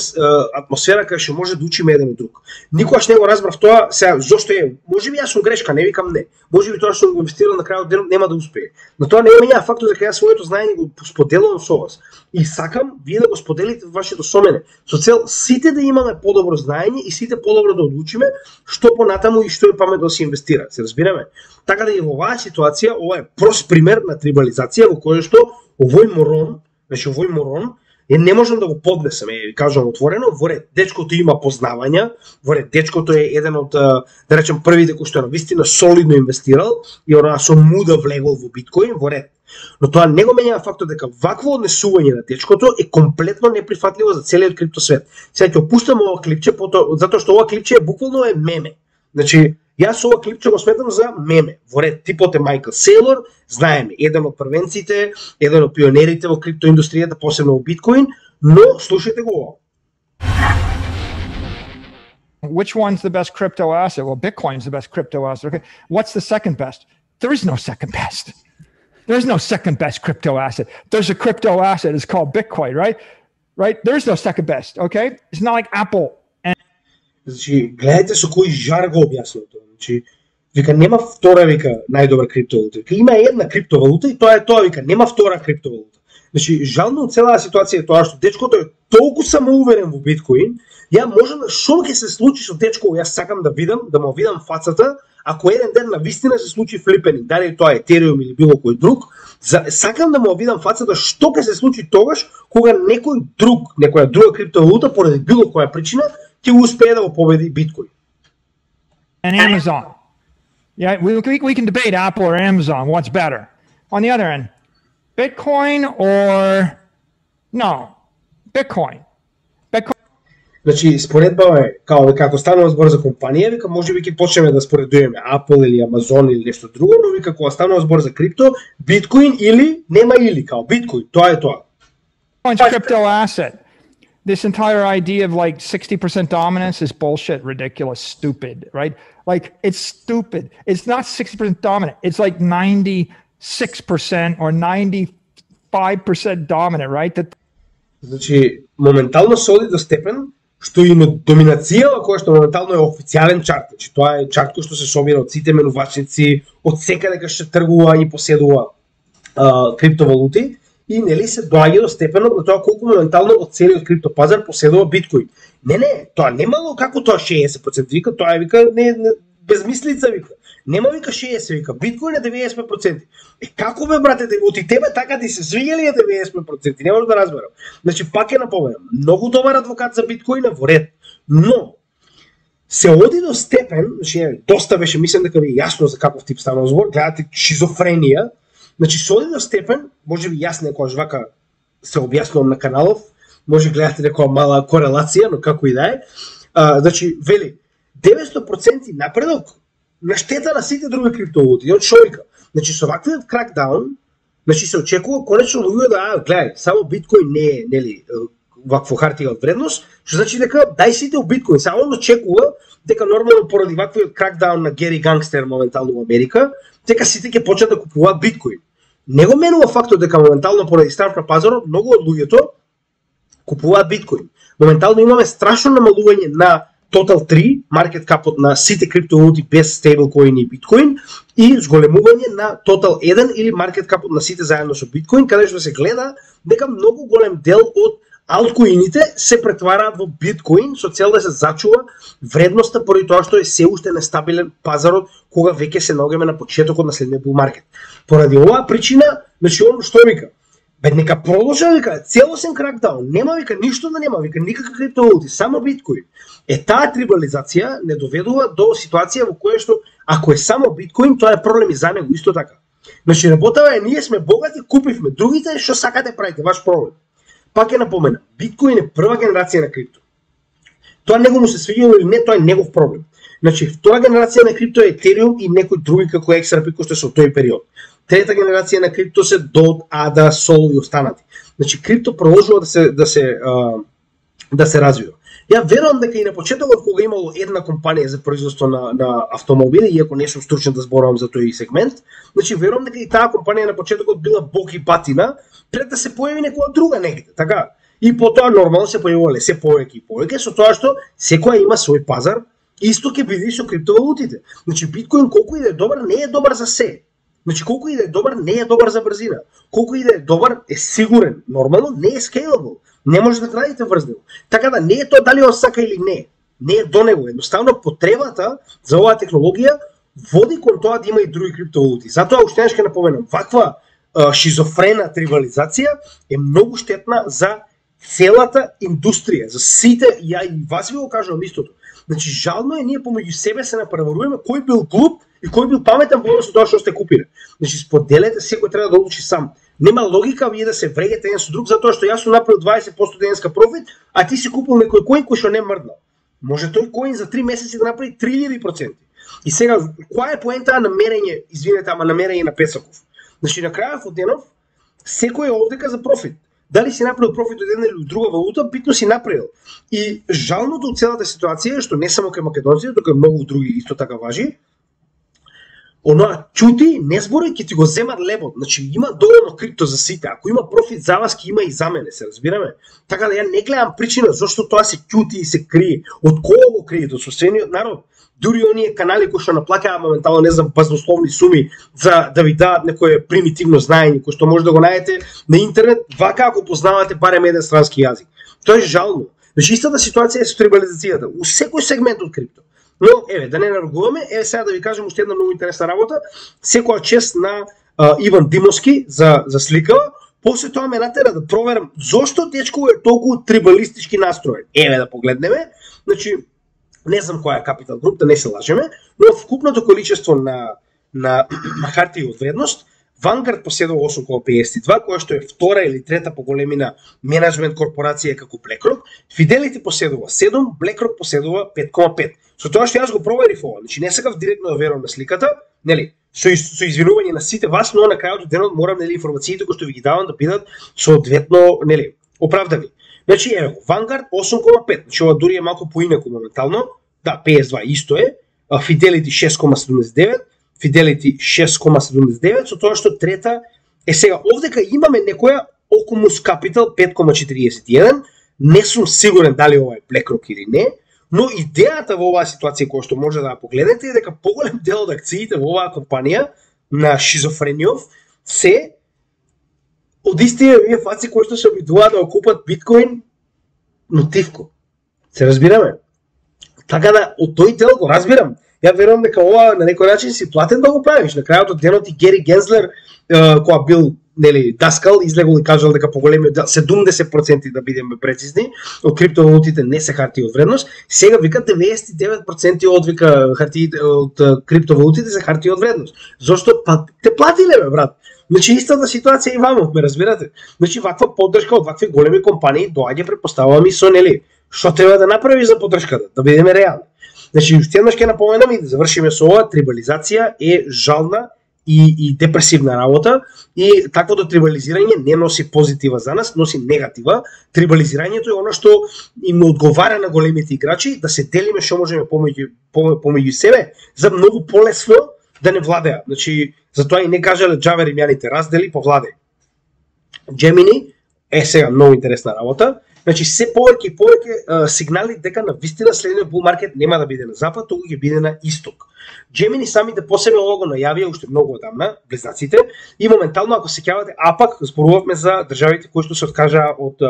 атмосфера кај што може да учиме еден од друг. Никогаш не го разбрав тоа, сега зошто е, можеби јас сум грешка, не викам не. Можеби тоа што сум го инвестирал на крајот од денот нема да успее. Но тоа не е мене фактот дека јас своето знаење го споделувам со вас. И сакам вие да го споделите вашето со мене, со цел сите да имаме подобро знаење и сите подобро да одлучиме што понатаму и што е паметно да се инвестира. Се разбираме? Така да и во оваа ситуација, ова е прост пример на трибализација во која што овој морон, значи овој морон е не можам да го поднесам, е, кажам отворено, во ред дечкото има познавања, во ред дечкото е еден од, да речем, првите кои што на вистина солидно инвестирал и она со муда влегол во биткоин, во ред. Но тоа не го менја фактот дека вакво однесување на дечкото е комплетно неприфатливо за целиот криптосвет. Сега ќе опуштам ова клипче, затоа што ова клипче буквално е меме. Значи, јас ова клипче го сметам за меме. Во ред типот е Майкл Сейлор, знаеме, еден од првенците, еден од пионерите во криптоиндустријата, посебно во биткоин, но слушајте го ова. Which one's the best crypto asset? Well, Bitcoin's the best crypto asset. Okay. What's the second best? There is no second best. There's no second best crypto asset. There's a crypto asset. It's called Bitcoin, right? Right? There's no second best, okay? It's not like Apple. And... Значи, гледайте со кој жар го објаснува тоа. Значи, вика нема втора вика најдобра криптовалута. Вика има една криптовалута и тоа е тоа, вика нема втора криптовалута. Значи, жално од целата ситуација е тоа што дечкото е толку самоуверен во биткоин, ја можам што ќе се случи со дечко, јас сакам да видам, да му видам фацата, ако еден ден на вистина се случи флипени, дали тоа е Ethereum или било кој друг, за, сакам да му видам фацата што ќе се случи тогаш кога некој друг, некоја друга криптовалута поради било која причина ќе успее да го победи биткоин. And Amazon. Yeah, we, we we can debate Apple or Amazon, what's better. On the other end, Bitcoin or no, Bitcoin. Bitcoin. Значи, споредба е, као дека ако станува збор за компанија, вика можеби ќе почнеме да споредуваме Apple или Amazon или нешто друго, но вика кога станува збор за крипто, биткоин или нема или, као биткоин, тоа е тоа. Bitcoin's crypto asset. This entire idea of like sixty percent dominance is bullshit, ridiculous, stupid, right? Like it's stupid. It's not sixty percent dominant. It's like ninety six percent or ninety-five percent dominant, right? That Значи, моментално се оди до степен што и на доминацијава која што моментално е официјален чарт. Значи, тоа е чарт кој што се собира од сите менувачници, од секаде кај што тргува и поседува а, криптовалути и нели се доаѓа до степенот на тоа колку моментално од целиот криптопазар поседува биткоин. Не, не, тоа немало како тоа шеесет проценти, вика, тоа е вика не, не безмислица вика. Нема вика шеесет, вика, биткоин е деветдесет и пет проценти. Е како бе брате, од и тебе така ти се свиѓа ли е деветдесет и пет проценти? Не можам да разберам. Значи пак е напоменам, многу добар адвокат за биткоина во ред, но се оди до степен, значи доста беше, мислам дека ви е јасно за каков тип станува збор, гледате шизофренија, значи се оди до степен, може би јас некојаш вака се објаснувам на каналов, може гледате некоја мала корелација, но како и да е. А, значи вели деветстотини проценти напредок на штета на сите други криптовалути. Од човека. Значи со ваквиот кракдаун, значи се очекува конечно луѓе да а, гледај, само биткоин не е, нели, вакво хартија од вредност, што значи дека дај сите у биткоин. Само он очекува дека нормално поради ваквиот кракдаун на Гери Гангстер моментално во Америка, дека сите ќе почнат да купуваат биткоин. Не го менува фактот дека моментално поради страв на пазарот многу од луѓето купуваат биткоин. Моментално имаме страшно намалување на Total три, маркет капот на сите криптовалути без стейблкоин и биткоин и зголемување на Total еден или маркет капот на сите заедно со биткоин, каде што се гледа дека многу голем дел од алткоините се претвараат во биткоин со цел да се зачува вредноста поради тоа што е се уште нестабилен пазарот кога веќе се наоѓаме на почетокот на следниот бул маркет. Поради оваа причина, значи он што вика, бе нека продолжи вика целосен кракдаун, нема вика ништо да нема вика никакви криптовалути, само биткоин. Е таа трибализација не доведува до ситуација во која што ако е само биткоин, тоа е проблем и за него исто така. Значи работава е ние сме богати, купивме, другите што сакате правите, ваш проблем. Пак е напомена, биткоин е прва генерација на крипто. Тоа него му се свиѓа или не, тоа е негов проблем. Значи втора генерација на крипто е Ethereum и некои други како X R P кои што се од тој период. Трета генерација на крипто се Dot, A D A, Sol и останати. Значи крипто продолжува да се да се а, да се развива. Ја верувам дека и на почетокот кога имало една компанија за производство на на автомобили, иако не сум стручен да зборувам за тој сегмент, значи верувам дека и таа компанија на почетокот била бог и батина пред да се појави некоја друга негде, така? И потоа нормално се појавувале се повеќе и повеќе со тоа што секоја има свој пазар, исто ќе биде и со криптовалутите. Значи биткоин колку и да е добар, не е добар за се. Значи колку и да е добар, не е добар за брзина. Колку и да е добар, е сигурен. Нормално не е scalable. Не може да градите врз него. Така да не е тоа дали он сака или не. Не е до него. Едноставно потребата за оваа технологија води кон тоа да има и други криптовалути. Затоа уште еднаш ќе напоменам, ваква а, шизофрена трибализација е многу штетна за целата индустрија, за сите, ја и вас ви го кажувам истото. Значи жално е ние помеѓу себе се напреваруваме кој бил глуп и кој бил паметен во однос на тоа што сте купиле. Значи споделете, секој треба да одлучи сам. Нема логика вие да се врегете еден со друг затоа што јас сум направил дваесет проценти денеска профит, а ти си купил некој коин кој што не мрднал. Може тој коин за три месеци да направи три илјади проценти. И сега која е поентата на мерење, извинете, ама на мерење на Песаков? Значи на крајот од денов секој е овдека за профит. Дали си направил профит од една или друга валута, битно си направил. И жалното од целата ситуација е што не само кај македонците, тука многу други исто така важи. Оноа чути, не збори, ќе ти го земат лебот. Значи има доволно крипто за сите. Ако има профит за вас, ќе има и за мене, се разбираме. Така да ја не гледам причина зашто тоа се чути и се крие. Од кого го кријето? Со свениот народ. Дури оние канали кои што наплакаат моментално, не знам, базнословни суми за да ви дадат некое примитивно знаење кој што може да го најдете на интернет, вака ако познавате барем еден странски јазик. Тоа е жално. Значи истата ситуација е со трибализацијата у секој сегмент од крипто. Но еве да не наргуваме, еве сега да ви кажам уште една многу интересна работа. Секоја чест на а, Иван Димовски за за сликава. После тоа ме натера да проверам зошто дечко е толку трибалистички настроен. Еве да погледнеме. Значи не знам која е Capital Group, да не се лажеме, но вкупното количество на на хартија од вредност, Vanguard поседува осум целу педесет и два, која што е втора или трета по големина менеджмент корпорација како BlackRock, Fidelity поседува седум, BlackRock поседува пет целу пет. Со тоа што јас го проверив ова, значи не сакав директно да верувам на сликата, нели, со, со извинување на сите вас, но на крајот од денот морам нели информациите кои што ви ги давам да бидат соодветно, нели, оправдани. Значи еве го, Vanguard осум целу пет, значи ова дури е малку поинаку моментално, да, педесет и два исто е, Fidelity шест целу седумдесет и девет, Fidelity шест кома седумдесет и девет, со тоа што трета е сега овдека имаме некоја Ocumus Capital пет кома четириесет и еден, не сум сигурен дали ова е BlackRock или не, но идејата во оваа ситуација која што може да ја погледнете е дека поголем дел од акциите во оваа компанија на шизофрениов се од истите овие фаци кои што се обидуваат да купат биткоин, но тивко. Се разбираме? Така да, од тој дел го разбирам. Ја верувам дека ова на некој начин си платен да го правиш. На крајот од денот и Гери Гензлер, која бил нели даскал, излегол и кажал дека поголемиот дел, седумдесет проценти да бидеме прецизни, од криптовалутите не се харти од вредност, сега вика деветдесет и девет проценти од вика хартиите од криптовалутите се харти од вредност. Зошто? Па те платиле бе, брат. Значи истата ситуација и ваму, ме разбирате? Значи ваква поддршка од вакви големи компании доаѓа, претпоставувам и со нели што треба да направиш за поддршката, да бидеме реални. Значи уште еднаш ќе напоменам и да завршиме со ова, трибализација е жална и, и депресивна работа и таквото трибализирање не носи позитива за нас, носи негатива. Трибализирањето е оно што им одговара на големите играчи да се делиме што можеме помеѓу помеѓу себе за многу полесно да не владеа. Значи затоа и не кажале џаве римјаните раздели по владе. Gemini е сега многу интересна работа. Значи се повеќе и повеќе сигнали дека на вистина следниот bull market нема да биде на запад, туку ќе биде на исток. Gemini самите по себе ова го најавија уште многу одамна, близнаците, и моментално ако се сеќавате, а пак зборувавме за државите кои што се откажаа од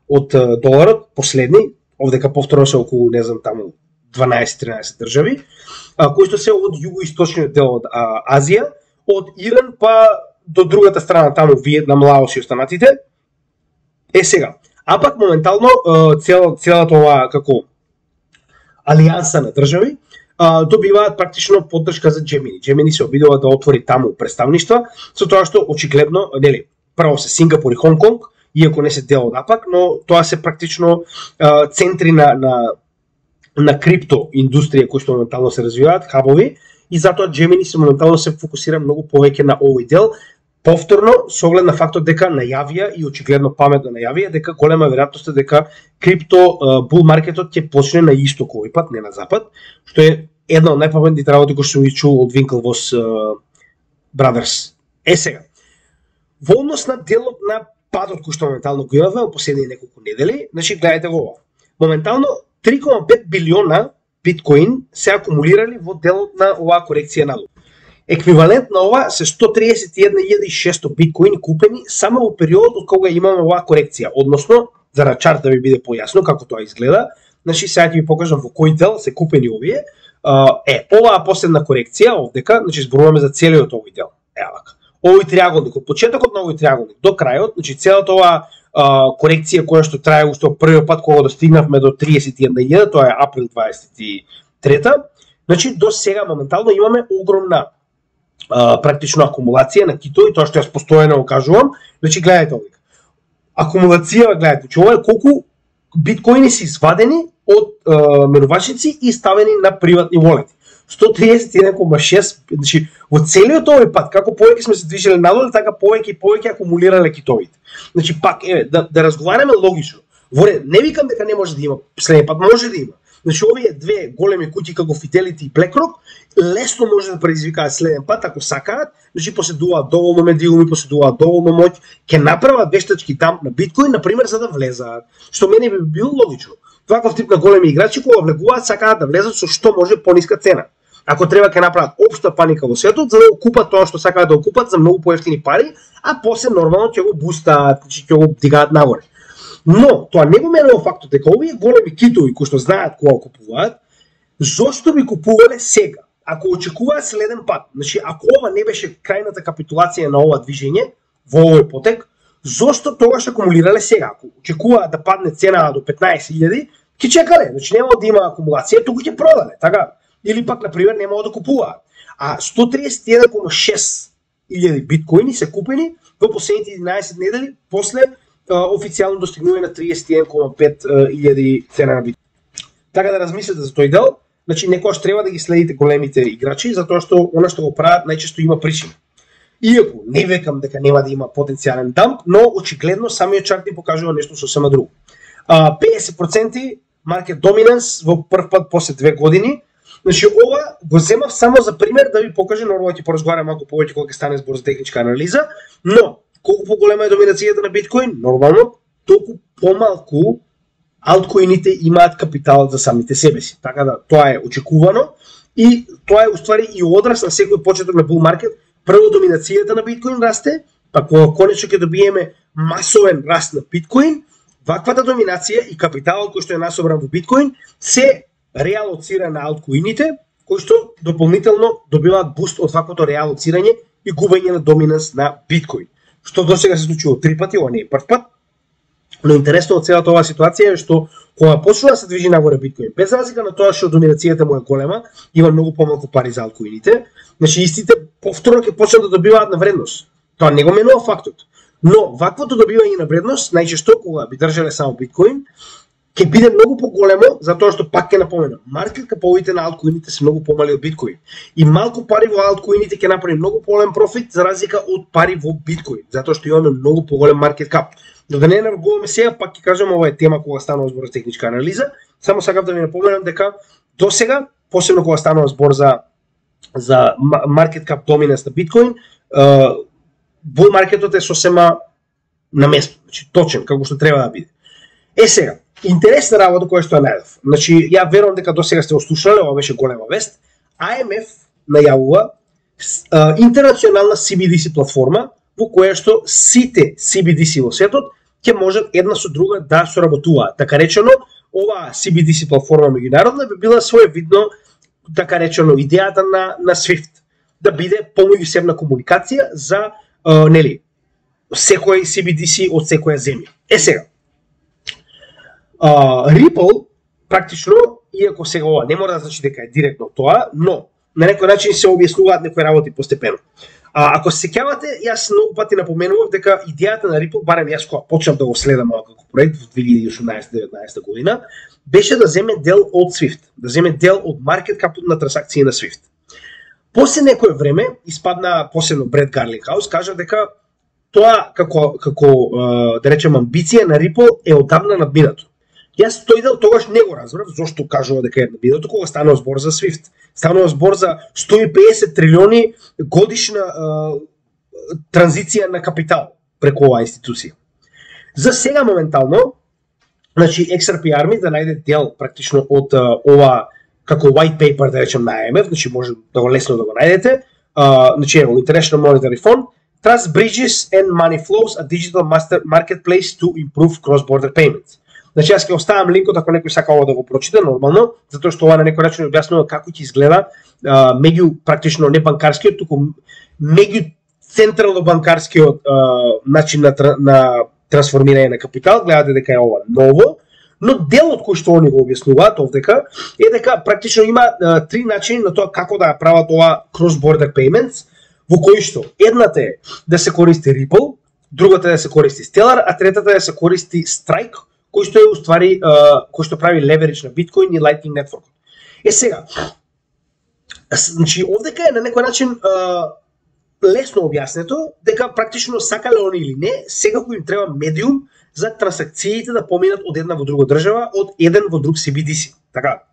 од доларот, последни, овдека повторно се околу, не знам, таму дванаесет-тринаесет држави, кои што се од југоисточниот дел од Азија, од Иран па до другата страна таму Виетнам, Лаос и останатите. Е сега, а пак моментално цел, целата ова како алијанса на држави добиваат практично поддршка за Gemini. Gemini се обидува да отвори таму представништва, со тоа што очигледно, нели, прво се Сингапур и Хонг Конг, иако не се дел од АПАК, но тоа се практично а, центри на, на, на крипто индустрија кои што моментално се развиваат, хабови, и затоа Gemini се моментално се фокусира многу повеќе на овој дел. Повторно, со оглед на фактот дека најавија и очигледно паметно најавија дека голема веројатност е дека крипто бул маркетот ќе почне на исток овој пат, не на запад, што е една од најпаметните работи кои што ги чул од Winklevoss uh, Brothers. Е сега, во однос на делот на падот кој што моментално го имаме во последните неколку недели, значи гледајте го ова. Моментално три кома пет билиона биткоин се акумулирали во делот на оваа корекција надолу. Еквивалент на ова се сто триесет и една илјада и шесто биткоини купени само во периодот од кога имаме оваа корекција, односно за на чарт да ви биде појасно како тоа изгледа. Значи сега ќе ви покажам во кој дел се купени овие. Е, оваа последна корекција овдека, значи зборуваме за целиот овој дел. Ева вака. Овој триаголник, од почетокот на овој триаголник до крајот, значи целата оваа корекција која што трае уште првиот пат кога достигнавме до триесет и една илјада, тоа е април дваесет и трета. Значи до сега моментално имаме огромна Uh, практично акумулација на китови, тоа што јас постојано го кажувам. Значи гледајте овде. Акумулација, гледајте, че ова е колку биткоини се извадени од uh, менувачници и ставени на приватни волети. сто триесет и еден кома шест, значи во целиот овој пат, како повеќе сме се движеле надолу, така повеќе и повеќе акумулирале китовите. Значи пак еве да, да разговараме логично. Воре, не викам дека не може да има, следниот пат може да има. Значи овие две големи куќи како Fidelity и BlackRock лесно може да предизвикаат следен пат ако сакаат, значи поседуваат доволно медиуми, поседуваат доволно моќ, ќе направат вештачки там на биткоин, на пример, за да влезаат. Што мене би било логично. Ваков тип на големи играчи кога влегуваат сакаат да влезат со што може пониска цена. Ако треба ќе направат општа паника во светот за да го купат тоа што сакаат да го купат за многу поевтини пари, а после нормално ќе го бустаат, значи ќе го дигаат нагоре. Но тоа не го менува фактот дека овие големи китови кои што знаат кога купуваат, зошто би купувале сега? Ако очекуваат следен пат, значи ако ова не беше крајната капитулација на ова движење во овој потек, зошто тогаш акумулирале сега? Ако очекуваат да падне цена до петнаесет илјади, ќе чекале, значи нема да има акумулација, туку ќе продале, така? Или пак на пример нема да купуваат. А сто триесет и еден кома шест илјади биткоини се купени во последните единаесет недели после официјално достигнување на триесет и еден кома пет илјади цена на биткоин. Така да размислете за тој дел, значи некогаш треба да ги следите големите играчи, затоа што она што го прават најчесто има причина. Иако не векам дека нема да има потенцијален дамп, но очигледно самиот чарт ни покажува нешто сосема друго. педесет проценти маркет доминанс во прв пат после две години, Значи ова го земав само за пример да ви покажам, нормално ќе поразговарам малку повеќе кога ќе стане збор за техничка анализа, но колку поголема е доминацијата на биткоин, нормално толку помалку алткоините имаат капитал за самите себе си. Така да тоа е очекувано и тоа е уствари и одраз на секој почеток на bull market. Прво доминацијата на биткоин расте, па кога конечно ќе добиеме масовен раст на биткоин, ваквата доминација и капиталот кој што е насобран во биткоин се реалоцира на алткоините, кои што дополнително добиваат буст од ваквото реалоцирање и губење на доминанс на биткоин. Што досега се случило три пати, ова не е прв пат. Но интересно од целата оваа ситуација е што кога почнува да се движи нагоре биткоин, без разлика на тоа што доминацијата му е голема, има многу помалку пари за алткоините, значи истите повторно ќе почнат да добиваат на вредност. Тоа не го менува фактот. Но ваквото добивање на вредност, најчесто кога би држале само биткоин, ќе биде многу поголемо, затоа што пак ќе напоменам, маркет каповите на алткоините се многу помали од биткоин. И малку пари во алткоините ќе направи многу поголем профит за разлика од пари во биткоин, затоа што имаме многу поголем маркет кап. Но да не навгуваме сега, пак ќе кажам, ова е тема кога станува збор за техничка анализа. Само сакав да ви напоменам дека до сега, посебно кога станува збор за за маркет кап доминанс на биткоин, bull маркетот е сосема на место, значи точен како што треба да биде. Е сега, интересна работа која што ја најдов. Значи ја верувам дека до сега сте ослушале, ова беше голема вест. А М Ф најавува интернационална Си Би Ди Си платформа во која што сите Си Би Ди Си во светот ќе можат една со друга да соработуваат. Така речено, ова Си Би Ди Си платформа меѓународна би била своевидно, така речено, идејата на на Свифт, да биде помеѓусебна комуникација за uh, нели секој Си Би Ди Си од секоја земја. Е сега, uh, Ripple практично, иако сега ова не мора да значи дека е директно тоа, но на некој начин се објаснуваат некои работи постепено. А, ако се сеќавате, јас многу пати напоменував дека идејата на Ripple, барем јас кога почнав да го следам малку како проект во две илјади и осумнаесета-деветнаесета година, беше да земе дел од Swift, да земе дел од маркет капот на трансакции на Swift. После некое време испадна посебно Бред Гарлингхаус, кажа дека тоа како како да речем амбиција на Ripple е одамна надминато. Јас тој дел тогаш не го разбрав зошто кажува дека е надминато кога станува збор за Swift. Станува збор за сто и педесет трилиони годишна uh, транзиција на капитал преку оваа институција. За сега моментално, значи Икс Ар Пи Army да најде дел практично од uh, ова како white paper да речем на А М Ф, значи може да го лесно да го најдете. Uh, значи ево International Monetary Fund, Trust Bridges and Money Flows, a digital master marketplace to improve cross-border payments. Значи јас ќе оставам линкот ако некој сака ова да го прочита нормално, затоа што ова на некој начин објаснува како ќе изгледа а, меѓу практично не банкарскиот, туку меѓу централно банкарскиот а, начин на, на трансформирање на капитал. Гледате дека е ова ново, но делот кој што они го објаснуваат овдека е дека практично има а, три начини на тоа како да прават ова cross-border payments, во кои што едната е да се користи Ripple, другата е да се користи Stellar, а третата е да се користи Strike, кој што е уствари, кој што прави леверидж на биткоин и Lightning Network. Е сега, значи овдека е на некој начин uh, лесно објаснето дека практично сакале они или не, сега кој им треба медиум за трансакциите да поминат од една во друга држава, од еден во друг Си Би Ди Си. Така.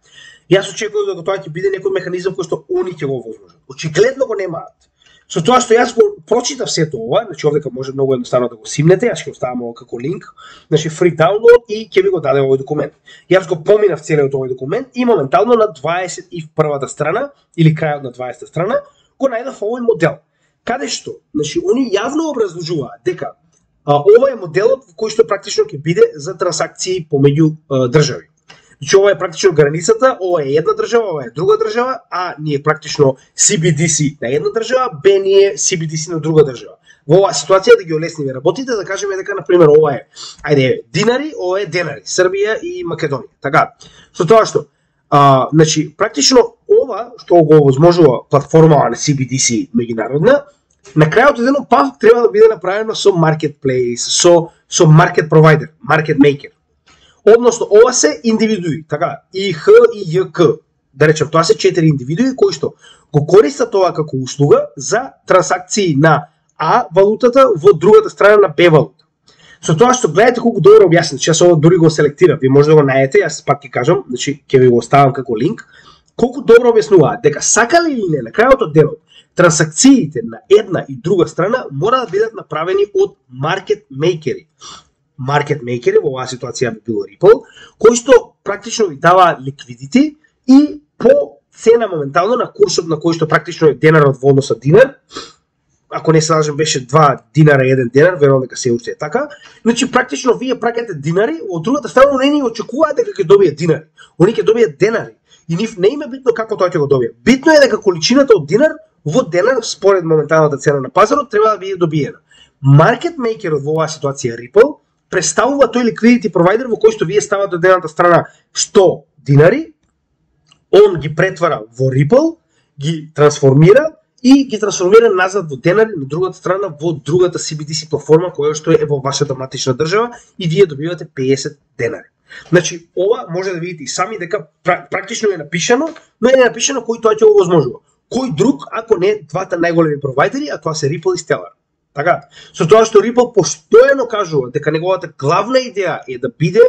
Јас очекувам дека тоа ќе биде некој механизам кој што они ќе го возможат. Очигледно го немаат. Со тоа што јас го прочитав сето ова, значи овдека може многу едноставно да го симнете, јас ќе оставам ова како линк, значи free download и ќе ви го даде овој документ. Јас го поминав целиот овој документ и моментално на дваесет и првата страна или крајот на дваесетта страна го најдов овој модел. Каде што, значи они јавно образложуваат дека а, ова е моделот во кој што практично ќе биде за трансакции помеѓу а, држави. Значи ова е практично границата, ова е една држава, ова е друга држава, а ние практично Си Би Ди Си на една држава, Б ние Си Би Ди Си на друга држава. Во оваа ситуација да ги олесниме работите, да кажеме дека на пример ова е, ајде, динари, ова е денари, Србија и Македонија. Така. Со тоа што, а, значи практично ова што го овозможува платформа на Си Би Ди Си меѓународна, на крајот едно пак треба да биде направено со marketplace, со со market provider, market maker. Односно, ова се индивидуи, така, И Х и Ј К. Да речем, тоа се четири индивидуи кои што го користат тоа како услуга за трансакции на А валутата во другата страна на Б валута. Со тоа што гледате колку добро објаснет, че јас ова дури го селектирав, ви може да го најдете, јас пак ќе кажам, значи ќе ви го оставам како линк. колку добро објаснуваат дека сакале или не, на крајот од денот, трансакциите на една и друга страна мора да бидат направени од маркет мейкери. Маркет мейкери во оваа ситуација би било Ripple, кои што практично ви дава ликвидити и по цена моментално на курсот на кој што практично е денарот во однос на динар. Ако не се лажам беше два динара еден денар, верувам дека се уште е така. Значи практично вие праќате динари, од другата страна не ни очекуваат дека ќе добијат динари. Они ќе добијат денари. И нив не им е битно како тој ќе го добие. Битно е дека количината од динар во денар според моменталната цена на пазарот треба да биде добиена. Маркет мейкерот во оваа ситуација Ripple представува тој liquidity provider во кој што вие ставате од едната страна сто динари, он ги претвара во Ripple, ги трансформира и ги трансформира назад во денари на другата страна во другата си би ди си платформа која што е во вашата матична држава и вие добивате песет денари. Значи, ова може да видите и сами дека практично е напишано, но е напишано кој тоа ќе го возможува. Кој друг, ако не двата најголеми провайдери, а тоа се Ripple и Stellar. Така, со тоа што Ripple постојано кажува дека неговата главна идеја е да биде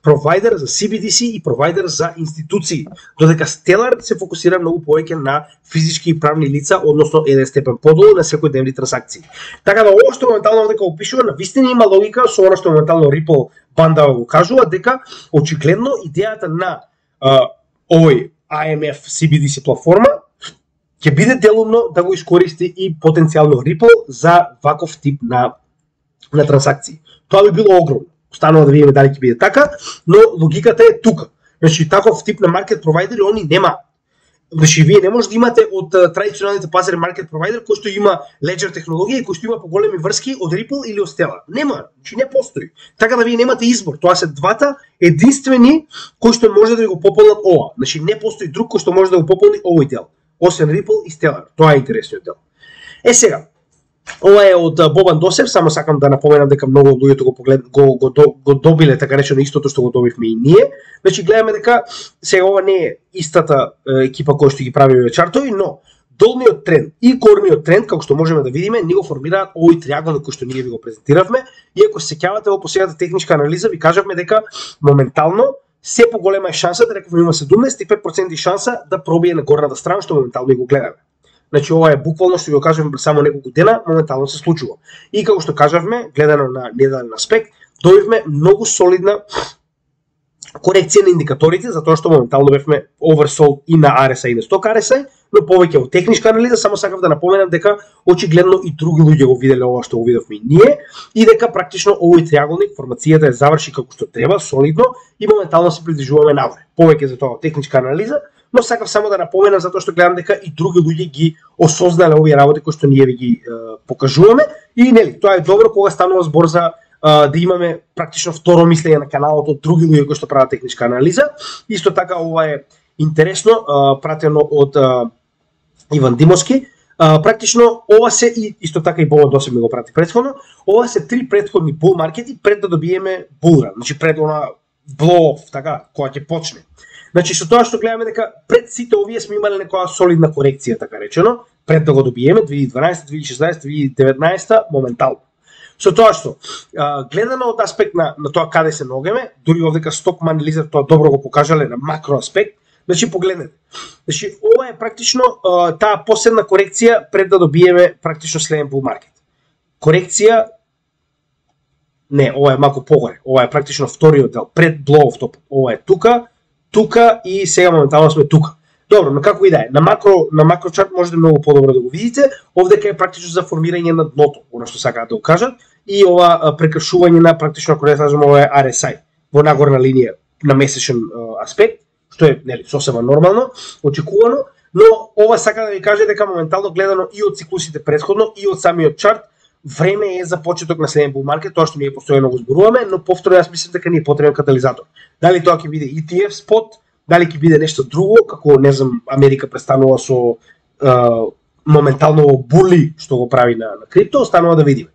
провайдер за си би ди си и провайдер за институции, додека Stellar се фокусира многу повеќе на физички и правни лица, односно еден степен подолу на секојдневни трансакции. Така да ова што моментално дека опишува, навистина има логика со она што моментално Ripple банда го кажува, дека очигледно идејата на а, овој ай ем еф си би ди си платформа ќе биде делумно да го искористи и потенцијално Ripple за ваков тип на на трансакции. Тоа би било огромно. Останува да видиме дали ќе биде така, но логиката е тука. Значи таков тип на маркет провайдери они нема. Значи вие не може да имате од традиционалните пазари маркет провайдер кој што има Ledger технологија и кој што има поголеми врски од Ripple или од Stellar. Нема, значи не постои. Така да вие немате избор. Тоа се двата единствени кои што може да го пополнат ова. Значи не постои друг кој што може да го пополни овој дел, освен Ripple и Stellar. Тоа е интересниот дел. Е сега, ова е од Бобан Досев, само сакам да напоменам дека многу од луѓето го поглед го, го, го, го добиле така речено истото што го добивме и ние. Значи гледаме дека сега ова не е истата е, екипа која што ги прави овие чартови, но долниот тренд и горниот тренд, како што можеме да видиме, ни го формираат овој триаголник кој што ние ви го презентиравме. И ако се сеќавате во последната техничка анализа, ви кажавме дека моментално се поголема е шансата, рековме има седумнаесет и пет проценти шанса да пробие на горната страна, што моментално и го гледаме. Значи ова е буквално што ви го кажавме само неколку дена, моментално се случува. И како што кажавме, гледано на неделен аспект, добивме многу солидна корекција на индикаторите, затоа што моментално бевме oversold и на ар ес ай и на сток ар ес ай, но повеќе во техничка анализа, само сакав да напоменам дека очигледно и други луѓе го виделе ова што го видовме и ние, и дека практично овој триаголник, формацијата е заврши како што треба, солидно, и моментално се придвижуваме нагоре. Повеќе за тоа техничка анализа, но сакав само да напоменам затоа што гледам дека и други луѓе ги осознале овие работи кои што ние ви ги е, покажуваме, и нели, тоа е добро кога станува збор за да имаме практично второ мислење на каналот од други луѓе кои што прават техничка анализа. Исто така ова е интересно, пратено од Иван Димовски. Практично ова се и исто така и Бобан Досев ми го прати претходно. Ова се три претходни бул маркети пред да добиеме булран, значи пред она blow-off, така, која ќе почне. Значи со тоа што гледаме дека пред сите овие сме имале некоја солидна корекција, така речено, пред да го добиеме две илјади и дванаесета, две илјади и шеснаесета, две илјади и деветнаесета моментално. Со тоа што, а, гледано од аспект на, на тоа каде се ногеме, дури овдека Stockman Lizard тоа добро го покажале на макро аспект, значи погледнете. Значи ова е практично а, таа последна корекција пред да добиеме практично следен bull market. Корекција не, ова е малку погоре. Ова е практично вториот дел пред blow off top. Ова е тука, тука и сега моментално сме тука. Добро, но како и да е, на макро на макро чарт можете многу подобро да го видите. Овдека е практично за формирање на дното, она што сакаат да го кажат, и ова прекршување на практично, ако не кажеме, ова е ар ес ай во нагорна линија на месечен аспект, што е нели сосема нормално, очекувано, но ова сака да ви каже дека моментално гледано и од циклусите претходно и од самиот чарт, време е за почеток на следен bull market, тоа што ние постојано го зборуваме, но повторно јас мислам дека ни е потребен катализатор. Дали тоа ќе биде и ти еф спот, дали ќе биде нешто друго, како не знам, Америка престанува со е, моментално були што го прави на, на крипто, останува да видиме.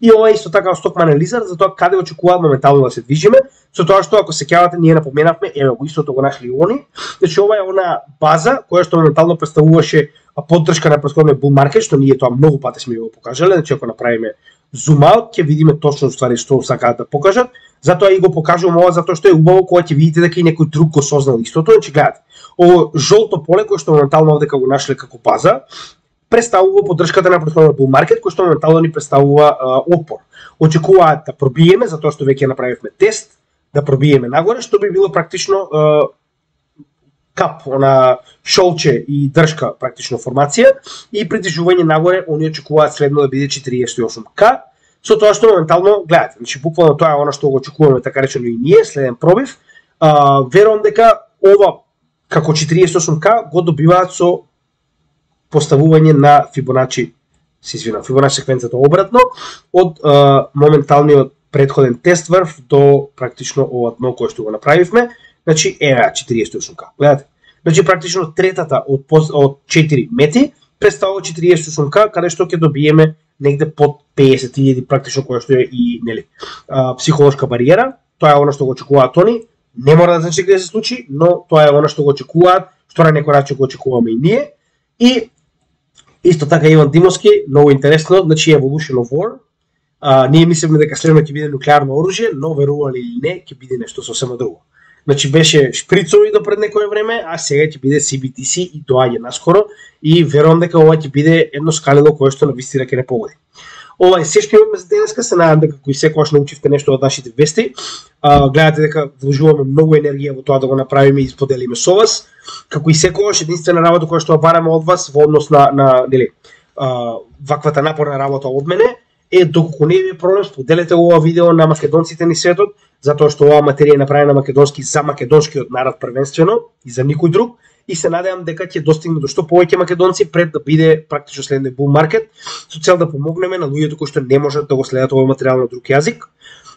И ова е исто така Stockman Lizard за тоа каде очекуваат моментално да се движиме, со тоа што ако сеќавате ние напоменавме, еве го истото го нашли они, значи ова е она база која што моментално представуваше поддршка на претходниот bull market, што ние тоа многу пати сме го покажале, значи ако направиме zoom out ќе видиме точно ствари што сакаат да покажат. Затоа и го покажувам ова затоа што е убаво кога ќе видите дека и некој друг го сознал истото, значи гледате. Ово жолто поле кое што моментално овде го нашле како база, представува поддршката на претходниот bull market, кој што моментално ни представува а, отпор. Очекуваат да пробиеме, затоа што веќе направивме тест, да пробиеме нагоре, што би било практично а, кап, она шолче и држка практично формација и придвижување нагоре, они очекуваат средно да биде четириесет и осум ка, со тоа што моментално гледате, значи буквално тоа е она што го очекуваме така речено и ние, следен пробив. А, верувам дека ова како четириесет и осум ка го добиваат со поставување на Фибоначи, се извинам, Фибоначи секвенцата обратно од а, моменталниот претходен тест врв до практично ова дно кое што го направивме, значи ева четириесет и осум ка. Гледате, значи практично третата од од четири мети представува четириесет и осум ка, каде што ќе добиеме негде под песет илјади практично која што е и нели а, психолошка бариера. Тоа е она што го очекуваат они. Не мора да значи каде се случи, но тоа е она што го очекуваат, што на некој начин го очекуваме и ние. И исто така Иван Димовски, многу интересно, значи Evolution of War. А, ние мислиме дека следно ќе биде нуклеарно оружје, но верували или не, ќе биде нешто сосема друго. Значи беше шприцови до пред некое време, а сега ќе биде Си Би Ти Си и доаѓа наскоро и верувам дека ова ќе биде едно скалило кое што навистина ќе не погоди. Ова е се што имаме за денеска, се надам дека кој секогаш научивте нешто од нашите вести. А, гледате дека вложуваме многу енергија во тоа да го направиме и споделиме со вас. Како и секогаш единствена работа која што бараме од вас во однос на на нели а, ваквата напорна работа од мене е доколку не ви е проблем, споделете ова видео на македонците ни светот, затоа што оваа материја е направена македонски за македонскиот народ првенствено и за никој друг, и се надевам дека ќе достигне до што повеќе македонци пред да биде практично следниот bull market, со цел да помогнеме на луѓето кои што не можат да го следат овој материјал на друг јазик.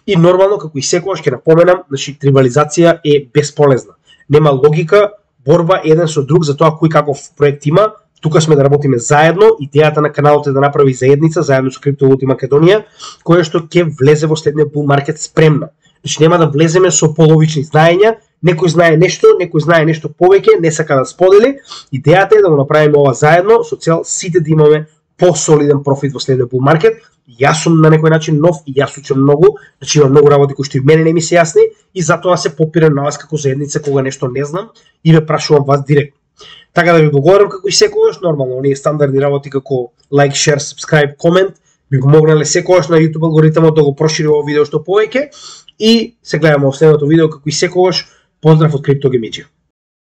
И нормално, како и секогаш ќе напоменам, значи трибализација е бесполезна. Нема логика борба еден со друг за тоа кој каков проект има. Тука сме да работиме заедно, идејата на каналот е да направи заедница заедно со Криптовалути Македонија, која што ќе влезе во следниот bull market спремна. Значи нема да влеземе со половични знаења, некој знае нешто, некој знае нешто повеќе, не сака да сподели. Идејата е да го направиме ова заедно со цел сите да имаме посолиден профит во следниот bull market. Јас сум на некој начин нов и јас учам многу, значи има многу работи кои што и мене не ми се јасни и затоа се попирам на вас како заедница кога нешто не знам и ве прашувам вас директно. Така да ви благодарам како и секогаш, нормално, оние стандардни работи како лайк, шер, subscribe, комент би помогнале секогаш на YouTube алгоритмот да го прошири ово видео што повеќе и се гледаме во следното видео како и секогаш. Поздрав од Криптогемиџија.